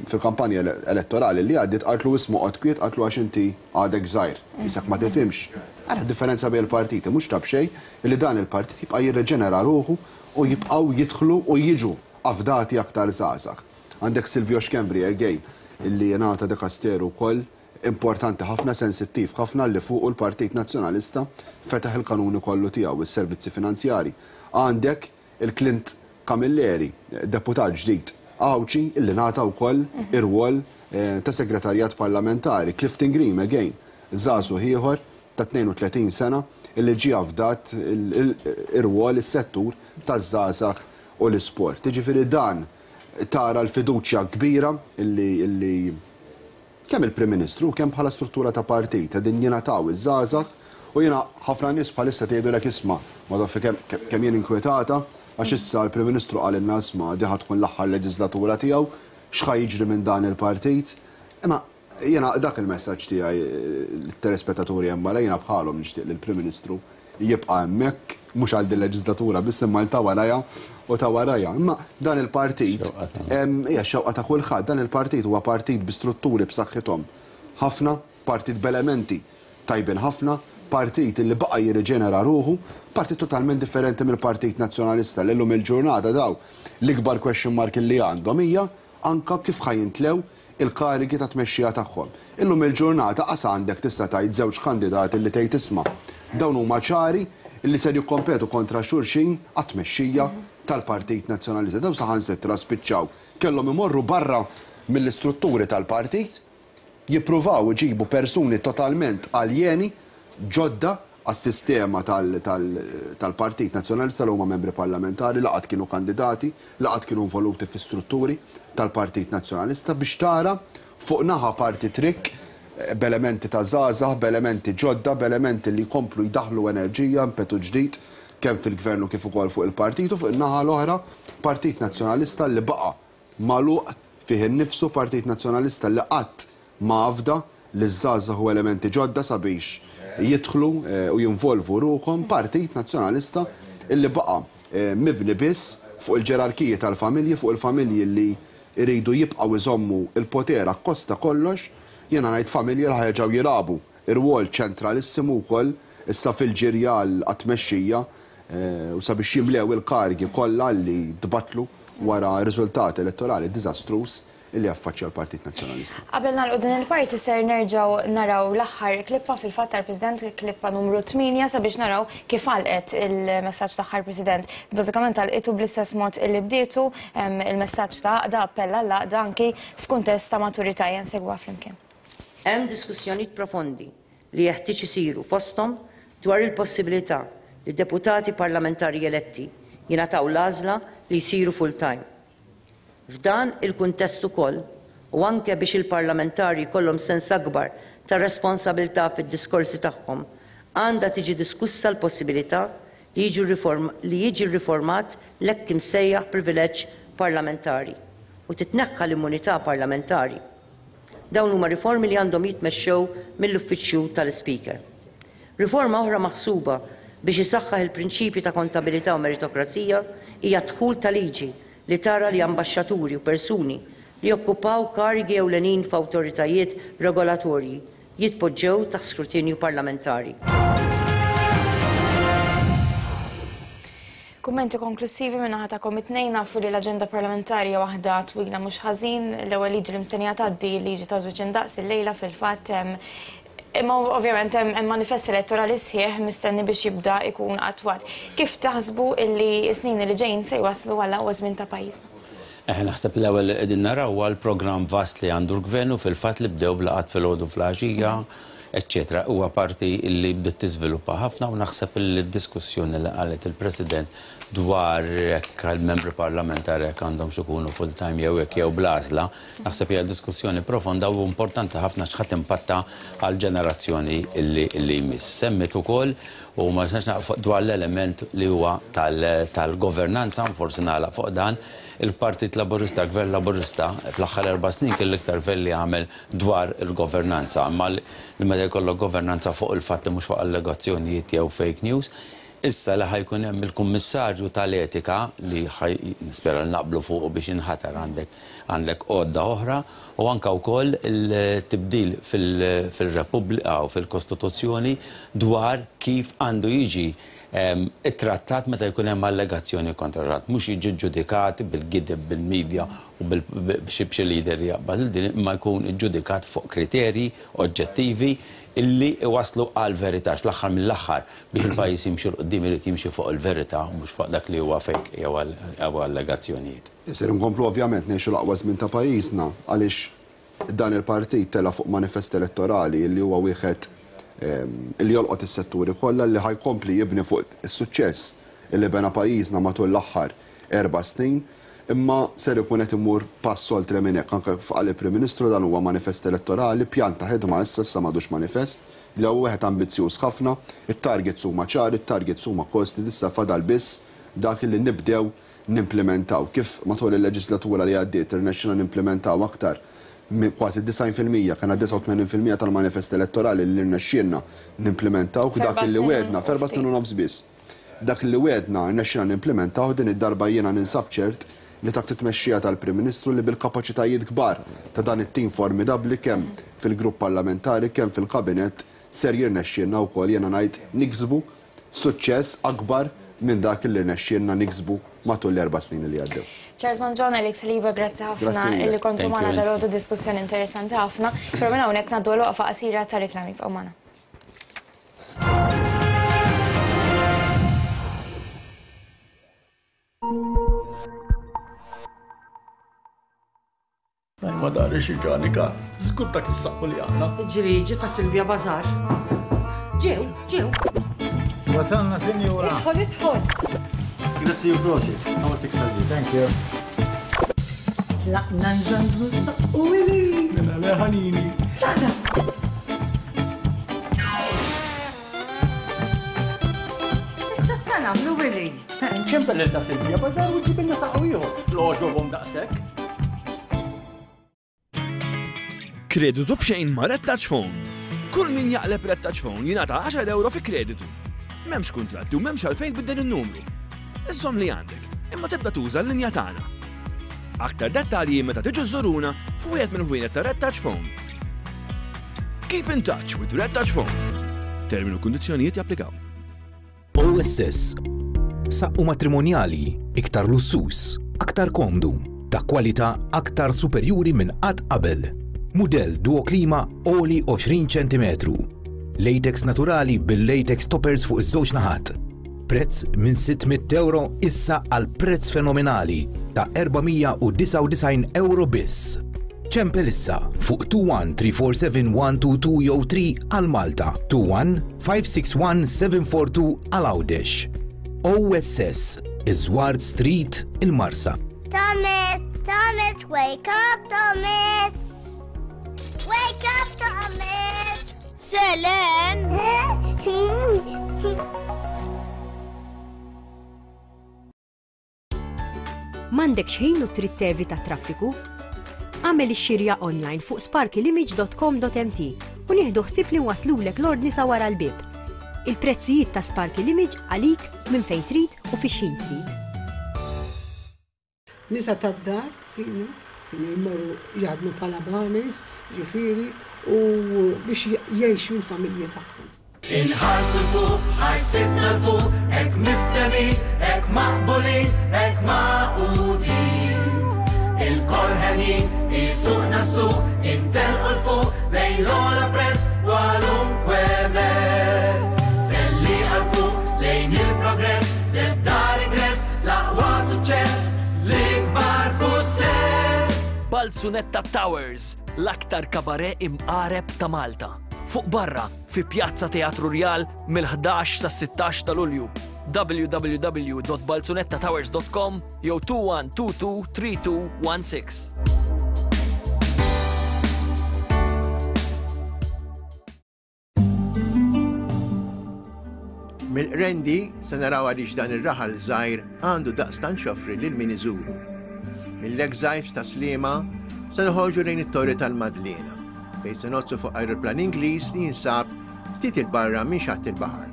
B: fil-kampanja elettorali li għaddiet, qaltlu ismu qgħod kwiet, qaltlu għax inti għadek żgħir, isek ma tifhimx. Ara differenza bejn il-partiti, mhux ta' b'xejn li dan il-partit jibqa' jirreġenera ruħu u jibqgħu jidħlu u jiġu afdati aktar żgħażagħ. Għandek Silvio Schembri again illi jingħata dekasteru wkoll importanti ħafna, sensittiv ħafna, li fuq il-Partit Nazzjonalista fetaħ il-kanuni kollu tiegħu, is-servizzi finanzjari. Għandek il-Clint Camilleri, deputat ġdid Għawdxi, illi ngħata wkoll ir-rwol ta' segretarjat parlamentari. Clifton Green again, żagħżugħ ieħor ta' tnejn u tletin sena illi ġie afdat ir-rwol is-settur taż-żgħażagħ u l-isport. Jiġifieri dan tara l-fiduċja kbira illi kemm il-Prim Ministru kemm bħala struttura ta' partit qegħdin jingħataw iż-żgħażagħ. U jiena ħafna nies bħalissa tgħidulek isma' ma tafx kemm kemm jien inkwetata għax issa l-Prim Ministru qal lilna isma' di ħa tkun l-aħħar leġislatura tiegħu, x'ħa jiġri minn dan il-partit. Imma jiena dak il-messaġġ tiegħi lit-telespettaturi hemm barra, jiena bħalhom nixtieq li l-Prim Ministru jibqa' hemmhekk Mhux għal din leġislatura biss imma ta' warajha u ta' warajha. Imma dan il-partit hija xewqa ta' kulħadd, dan il-partit huwa partit bi strutturi b'saħħithom ħafna, partit b'elementi tajbin ħafna, partit li baqa' jirriġenera ruħu, partit totalment differenti mill-Partit Nazzjonalista li llum il-ġurnata daw l-ikbar question mark li għandhom hija anka kif ħa jimtlew il-karigi ta' tmexxija tagħhom. Illum il-ġurnata qas għandek tista' tgħid żewġ kandidati li tgħid isma' dawn huma ċari li ser jikkompetu kontra xulxin għat-tmexxija tal-Partit Nazzjonalista. Dawn saħansitra spiċċaw kellhom imorru barra mill-istrutturi tal-partit, jippruvaw iġibu persuni totalment aljeni ġodda għas-sistema tal-Partit Nazzjonalista li huma membri parlamentari, laqat kienu kandidati, laqat kienu involuti fi strutturi tal-Partit Nazzjonalista biex tara fuq naħa parti trik b'elementi ta' żgħażagħ, b'elementi ġodda, b'elementi li jkomplu jdaħlu enerġija, impetu ġdid kemm fil-gvernu kif ukoll fuq il-partit, u fuq in-naħa l-oħra Partit Nazzjonalista li baqa' magħluq fih innifsu, Partit Nazzjonalista li qatt ma afda li żgħażagħ u elementi ġodda sabiex jidħlu u jinvolvu ruħhom, Partit Nazzjonalista illi baqa' mibni biss fuq il-ġerarkiji tal-familji, fuq il-familji li jridu jibqgħu iżommu il-poter akkosta kollox. Jiena ngħid familji li ħajerġgħu jilagħbu ir-rwol ċentralissimu wkoll issa fil-ġirja għat-tmexxija u sabiex jimlew il-kargi kollha li tbatlu wara riżultat elettorali diżastruż illi affaċċja l-Partit Nazzjonalista.
A: Qabel nagħlqu din il-parti ser nerġgħu naraw l-aħħar klippa fil-fatt tal-President, klippa numru tmienja, sabiex naraw kif għalqet il-messaġġ tagħha l-President. Bażikament għalqitu bl-istess mod illi bdietu il-messaġġ ta' għaqda, appella għall-għaqda anki f'kuntest ta' maturità. Nsegwa flimkien.
R: Hemm diskussjonijiet profondi li jeħtieġ isiru fosthom dwar il-possibilità li deputati parlamentari eletti jingħataw l-għażla li jsiru full-time. F'dan il-kuntest ukoll, u anke biex il-parlamentari jkollhom sens akbar ta' responsabilità fid-diskorsi tagħhom, għandha tiġi diskussa l-possibilità li jiġi riformat l-hekk imsejjaħ privileġġ parlamentari u titneħħa l-immunità parlamentari. Dawn huma riformi li għandhom jitmexxew mill-uffiċċju tal-Speaker. Riforma oħra maħsuba biex isaħħaħ il-prinċipji ta' kontabilità u meritokrazija hija dħul ta' liġi li tara li ambaxxaturi u persuni li jokkupaw karigi ewlenin f'awtoritajiet regolatorji jitpoġġew taħt skrutinju parlamentari.
A: Kummenti konklusivi minn naħa tagħkom it-tnejn. Nafu li l-aġenda parlamentari hija waħda twila mhux ħażin. L-ewwel liġi li mistennija tgħaddi liġi ta' żwieġ indaqs illejla fil-fatt, imma ovvjament hemm manifest elettorali sħiħ mistenni biex jibda jkun attwat. Kif taħsbu illi s-snin li ġejjin se jwaslu għal aqwa żmien ta' pajjiżna?
S: Eh, naħseb l-ewwel qegħdin naraw huwa l-programm vast li għandu l-gvern u fil-fatt li bdew blaqat filgħodu fl-għaxija, eċċetera. Huwa parti li bdiet tiżviluppa ħafna u naħseb li d-diskussjoni li qalet il-President dwar jekk il-membri parlamentari jekk għandhom ikunu full-time jew jekk jew bl-għażla, naħseb hija diskussjoni profonda u importanti ħafna x'ħadd impatta għal ġenerazzjoni li jmiss. Semmit ukoll u ma nistax naqfu dwar l-element li huwa tal-governanza, forsi nagħlaq fuq dan. Il-Partit Laburista, il-Gvern Laburista, fl-aħħar erba' snin kien l-iktar gvern li għamel dwar il-governanza, imma li meta jkollok governanza fuq il-fatti mhux fuq allegazzjonijiet jew fake news. Issa li ħajkun hemm il-Kummissarju tal-Etika li nispera li naqblu fuq biex inħatar għandek għandek għodda oħra, u anka wkoll il-tibdil fil-Repubblika u fil-Kostituzzjoni dwar kif għandu jiġi it-trattat meta jkun hemm allegazzjoni kontra rat, mhux jiġi ġudikat bil-gideb bil-medja u b'xi lider jaqbad din, imma jkun iġġudikat fuq kriterji oġġettivi illi iwaslu għal verità. Fl-aħħar mill-aħħar biex il-pajjiż jimxi 'l quddiem irid jimxi fuq il-verità u mhux fuq dak li huwa fake jew allegazzjonijiet.
B: Isir inkomplu ovvjament ngħixu l-aqwa żmien ta' pajjiżna għaliex dan il-partit tela' fuq manifest elettorali li huwa wieħed li jolqot is-setturi kollha, li ħajkompli jibni fuq is-suċċess li bena pajjiżna matul l-aħħar erba' snin, imma ser ikun qed imur pass oltre minn hekk. Anke qal il-Prim Ministru dan huwa manifest elettorali, pjan ta' ħidma issa issa m'għadux manifest, li huwa wieħed ambizzjuż ħafna, it-targets huma ċari, it-targets huma kosti, issa fadal biss dak li nibdew nimplementaw. Kif matul il-leġislatura li għaddiet irnexxina nimplementaw aktar kważi disgħin fil-mija, kena disgħa u tmenin fil-mija tal-manifest elettorali li rnexxielna nimplementaw dak li wedna f'erba' snin u nofs biss. Dak li wegħedna rnexxina nimplementaw, din id-darba jiena ninsab ċert li taħt it-tmexxija tal-Prim Ministru li bil-kapaċitajiet kbar ta' dan it-tim formidabbli kemm fil-grupp parlamentari kemm fil-kabinett ser jirnexxielna wkoll, jiena ngħid, niksbu suċċess akbar minn dak li rnexxielna niksbu matul l-erba' snin li għaddew.
A: Charles Mangion, Alex Saliba, grazzi ħafna illi kontu magħna dalgħodu, diskussjoni interessanti ħafna. Però minn hawnhekk ngħaddu waqfa qasira ta' reklami, bqgħu magħna.
C: Ma dari xi ġanika, żgur dak is-saqqu li għandna.
R: Ġriġi ta' Silvia Bazar. Ġew, ġew.
D: Wasalna, sinjura.
R: Idħol, idħol.
D: Grazzi u prosit. Għawa six. Thank you.
R: Tlaqna nżanżu s-saqqu ili.
C: Mela leħanini.
R: Tlaqna. Issa sa nagħmlu Willy.
C: Ċempel lil ta' Silvia Bazar u ġibilna saqqu ieħor. L-għoġobhom daqshekk.
G: Kreditu b'xejn ma' Red Touch Phone. Kull min jaqleb Red Touch Phone jingħata għaxar euro fi kreditu. M'hemmx kuntratti u m'hemmx għalfejn tbiddel in-numru. Iżżomm li għandek, imma tibda tuża l-linja tagħna. Aktar dettalji meta tiġu żuruna f'wieħed minn ħwienet ta' Red Touch Phone. Keep in touch with Red Touch Phone. Terminu u kundizzjonijiet japplikaw.
W: O S S. Saqqu matrimonjali, iktar lussus, aktar komdu, ta' kwalità aktar superjuri minn qatt qabel. Mudell Duo Klima għoli għoxrin ċentimetru. Latex naturali bil-latex toppers fuq iż-żewġ naħat. Prezz minn sitt mitt euro issa għal prezz fenomenali ta' erba' mija u disgħa u disgħin euro biss. Ċempel issa fuq tnejn wieħed tlieta erba' seba' wieħed tnejn tnejn jew tlieta għal Malta, tnejn wieħed ħamsa sitta wieħed seba' erba' tnejn għal Għawdex. O S S, Iżward Street, il-Marsa.
E: Thomas, Thomas, wake up, Thomas! Wake up, Thomas! Selen!
J: M'għandekx ħin u trid tevita traffiku? Agħmel ix-xirja online fuq sparkylimage dot com dot M T u nieħdu ħsieb li nwaslulek l-ordni sa wara l-bib. Il-prezzijiet ta' Sparky Image għalik minn fejn trid u fi xħin trid.
X: Nisa tad-dar kienu kienu jmorru jaħdmu bħala barmaids, ġifieri, u biex jgħixu l-familji tagħhom.
L: Inħarsu l-fuq, ħarsitna l-fuq, hekk miftehmin, hekk maqbulin, hekk magħqudin. Ilkoll henjin, isuqna s-suq, intelqu l-fuq, lejn l-ogħla prezz, kwalunkwe mezz. Tellieqa 'l fuq, lejn il-progress, l-ebda regress, l-aqwa suċċess, l-ikbar pussess.
I: Balzunetta Towers, l-aktar kabare imqareb ta' Malta. Fuq barra, fi Pjazza Teatru Rjal mill-ħdax sa sittax ta' Lulju. w w w dot balzunettatowers dot com jew tnejn wieħed tnejn tnejn tlieta tnejn wieħed sitta.
Y: Mill-Qrendi se naraw għaliex dan ir-raħal żgħir għandu daqstant x'joffri lil min iżuru. Mill-Exiles ta' Sliema se noħorġu lejn it-Torri tal-Madliena, fejn se ngħoddsu fuq aeroplan Ingliż li jinsab ftit il-barra minn xatt il-baħar.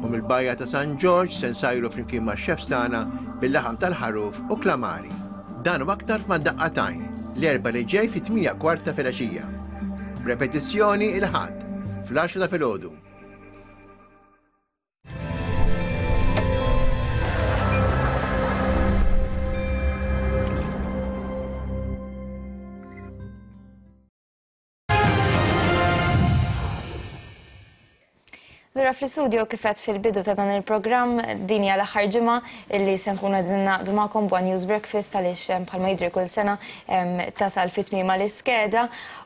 Y: U mill-bajja ta' San Ġorġ se nsajru flimkien ma' chefs tagħna bil-laħam tal-ħaruf u klamari. Dan u aktar f'Ma' Daqqa t'Għajn l-Erbgħa li ġej fit-tmienja kwarta filgħaxija. Repetizzjoni il-Ħadd fl-għaxra ta' filgħodu.
A: Lura fl-istudio, kif għedt fil-bidu ta' dan il-programm, din hija l-aħħar ġimgħa illi se nkunu qegħdin naqdu magħkom b'One News Breakfast, għaliex bħalma jidri kull sena tasal fit tmiema l-iskeda,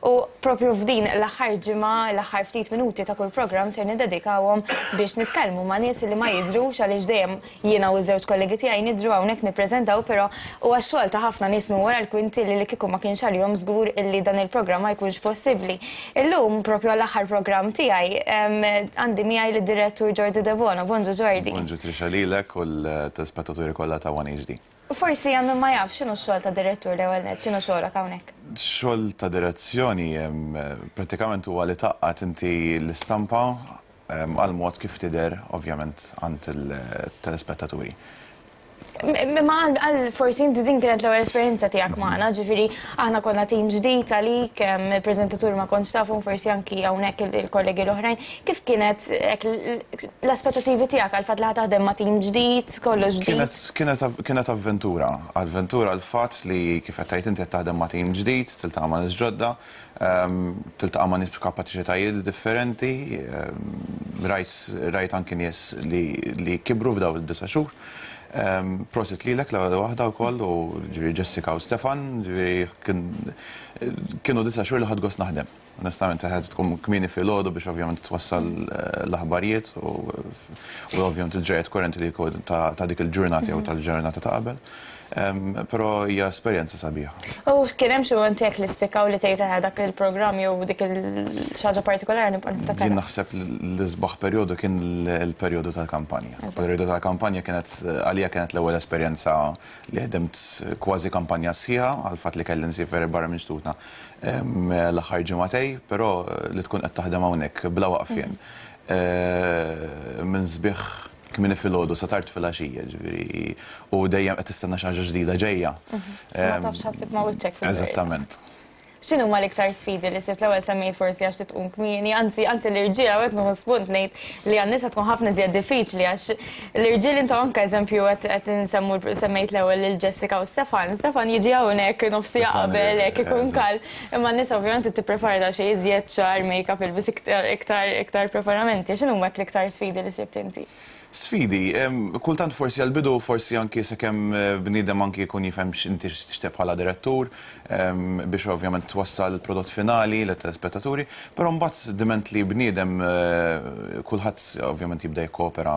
A: u propju f'din l-aħħar ġimgħa, l-aħħar ftit minuti ta' kull programm ser niddedikawhom biex nitkellmu ma' nies li ma jidrux, għaliex dejjem jiena u ż-żewġ kollegi tiegħi nidru hawnhekk nippreżentaw, però huwa x-xogħol ta' ħafna nies minn wara l-kwinti li li kieku ma kienx għalihom żgur illi dan il-programm ma jkunx possibbli. Illum propju għall-aħħar programm tiegħi għandi miegħi lid-direttur Jordi Debono. Bonġu, Jordi.
Z: Bonġu Trisha, lilek u l-telespettaturi kollha ta' One H D.
A: Forsi għandu ma jaf x'inhu x-xogħol ta' direttur l-ewwel nett, x'inhu xogħolok hawnhekk?
Z: Xogħol ta' direzzjoni prattikament huwa li tgħaqqad inti l-istampa għal mod kif tidher ovvjament għand il-telespettaturi.
A: Ma għal forsi inti din kienet l-ewwel esperjenza tiegħek magħna, ġifieri aħna konna tim ġdid għalik, il-preżentatur ma kontx tafhom, forsi anki hawnhekk il-kollegi l-oħrajn. Kif kienet l-aspettattivi tiegħek għal fatt li taħdem ma' tim ġdid, kollox ġdid?
Z: Kienet avventura, avventura l-fatt li kif qed tgħid inti qed taħdem ma' tim ġdid, tiltaqa' ma' nies ġodda, tiltaqa' ma' nies b'kapaċitajiet differenti, rajt anki nies li kibru f'dawn id-disa' xhur. Prosit lilek l-ewwel waħda wkoll u ġifieri Jessica u Stefan, ġifieri kienu disa' xhur li ħadt gost naħdem. Onestament ħadd tkun kmieni filgħodu biex ovvjament twassal l-aħbarijiet u ovvjament il-ġrajiet korrenti li ta' dik il-ġurnata jew tal-ġurnata ta' qabel. Però hija esperjenza sabiħa.
A: U kien hemm xi mument tiegħek li spikkaw li tgħid dak il-programm jew dik il-xi ħaġa partikolari nibqa' niftakar?
Z: Jien naħseb l-isbaħ perjodu kien il-perjodu tal-kampanja. Il-perjodu tal-kampanja kienet għalija kienet l-ewwel esperjenza li ħdimt kważi kampanja sħiħa għal fatt li kelli nsifer barra minn xtutna l-aħħar ġimagħtej, però li tkun qed taħdem hawnhekk bla waqfien. Minn sbieħ kmieni filgħodu sa tard filgħaxija, ġifieri, u dejjem qed tistenna xi ħaġa ġdida ġejja.
A: Ma tafx ħassib ma' wiċċek fil-verità.
Z: Eżattament.
A: X'inhu huma l-iktar sfidi li sibt? L-ewwel semmejt forsi għax tqum kmieni, anzi anzi l-irġiel hawnhekk nieħu spunt ngħid li għan-nisa tkun ħafna iżjed diffiċli għax l-irġiel intom anke eżempju qed insemmu semmejt l-ewwel lil Jessica u Stefan. Stefan jiġi hawnhekk nofsija qabel hekk ikun kal, imma n-nisa ovvjament tipprepara da xejn iżjed xagħar, make-up, ilbis iktar iktar iktar preparamenti. X'inhu huma l-iktar sfidi li sibt inti?
Z: Sfidi, kultant forsi għal-bidu, forsi anki sakemm bniedem anki jkun jifhem x'inti tixtieq bħala direttur, biex ovvjament twassal il-prodott finali lit-telespettaturi, però mbagħad diment li bniedem kulħadd ovvjament jibda jikkopera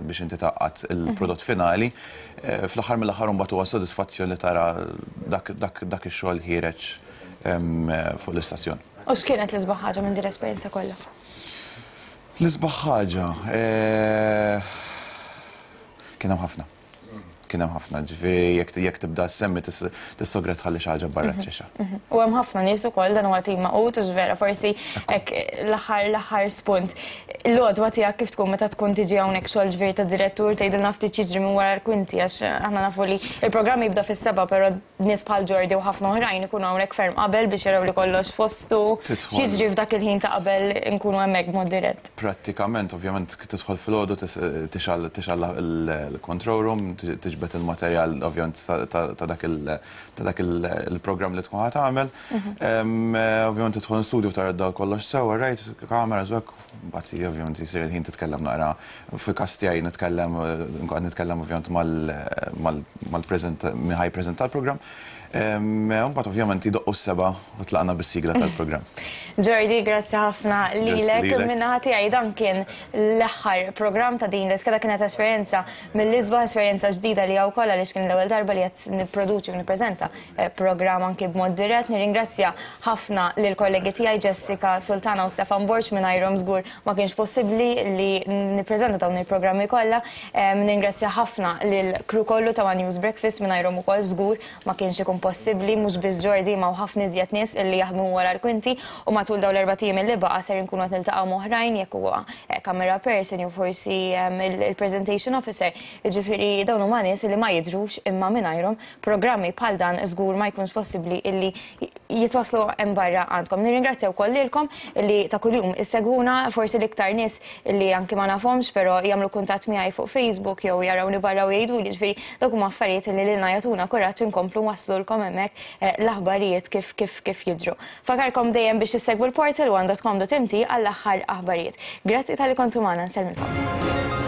Z: biex inti tgħaqqad il-prodott finali, fl-aħħar mill-aħħar mbagħad huwa sodisfazzjon li tara dak ix-xogħol ħiereġ fuq l-istazzjon.
A: U x'kienet l-isbaħ ħaġa minn din l-esperjenza kollha?
Z: L-isbaħ ħaġa, kien hemm ħafna. Kien hemm ħafna, ġifieri jekk tibda ssemmi tistogra tħalli xi ħaġa barra trixa.
A: U hemm ħafna nies ukoll dan huwa tim magħqud u vera forsi hekk l-aħħar l-aħħar spunt. L-għodwa tiegħek kif tkun meta tkun tiġi hawnhekk xogħol ġifieri ta' direttur tgħidilna ftit jiġri minn wara l-kwinti għax aħna nafu li l-programm jibda fis-seba' però nies bħal Jordi u ħafna oħrajn ikunu hawnhekk ferm qabel biex jaraw li kollox fostu. X'jiġri f'dak il-ħin ta' qabel nkunu hemmhekk b'mod dirett?
Z: Prattikament, ovvjament tidħol filgħodu tixgħal il-control room, tiġbed il-materjal ovvjament ta' dak il-programm li tkun ħa tagħmel. Ovvjament tidħol studio tara dal kollox sewa, right, kamera żwek, mbagħad ovvjament jsir il-ħin titkellem naqra. Fil-każ tiegħi nitkellem nitkellem ovvjament mal-preżent min ħaj preżenta l-programm. Mbagħad ovvjament idoqqu s-seba' u tlaqna bis-sigla tal-programm.
A: Jordi, grazzi ħafna lilek. Min-naħa tiegħi dan kien l-aħħar programm ta' din l-iskeda, kienet esperjenza mill-isbaħ, esperjenza ġdida li hawn kollha għaliex kien l-ewwel darba li qed nipproduċi u nippreżenta programm anki b'mod dirett. Nirringrazzja ħafna lill kollegi tiegħi Jessica Sultana u Stefan Borg, mingħajrhom żgur ma kienx possibbli li nippreżenta dawn il-programmi kollha. Nirringrazzja ħafna lill-crew kollu ta' One News Breakfast, mingħajrhom ukoll żgur ma kienx ikun possibbli, mhux biss Jordi ma ħafna iżjed nies illi jaħdmu wara l-kwinti u matul dawn l-erba' ijiem li baqa' ser inkunu qed niltaqgħu m'oħrajn jekk huwa camera person jew forsi il-presentation officer. Jiġifieri dawn huma nies li ma jidhrux imma mingħajrhom programmi bħal dan żgur ma jkunx possibbli illi jitwaslu hemm barra għandkom. Nirringrazzja wkoll lilkom li ta' kuljum issegwuna, forsi l-iktar nies li anki ma nafhomx però jagħmlu kuntatt miegħi fuq Facebook jew jarawni barra u jgħidu li ġifieri dawk huma affarijiet li lilna jagħtuna kuraġġ inkomplu waslulkom hemmhekk l-aħbarijiet kif kif kif jidhru. Fakarkom dejjem biex issegwu l-portal one dot com dot m t għall-aħħar aħbarijiet. Grazzi tal-li kontu magħna, nsellmilkom.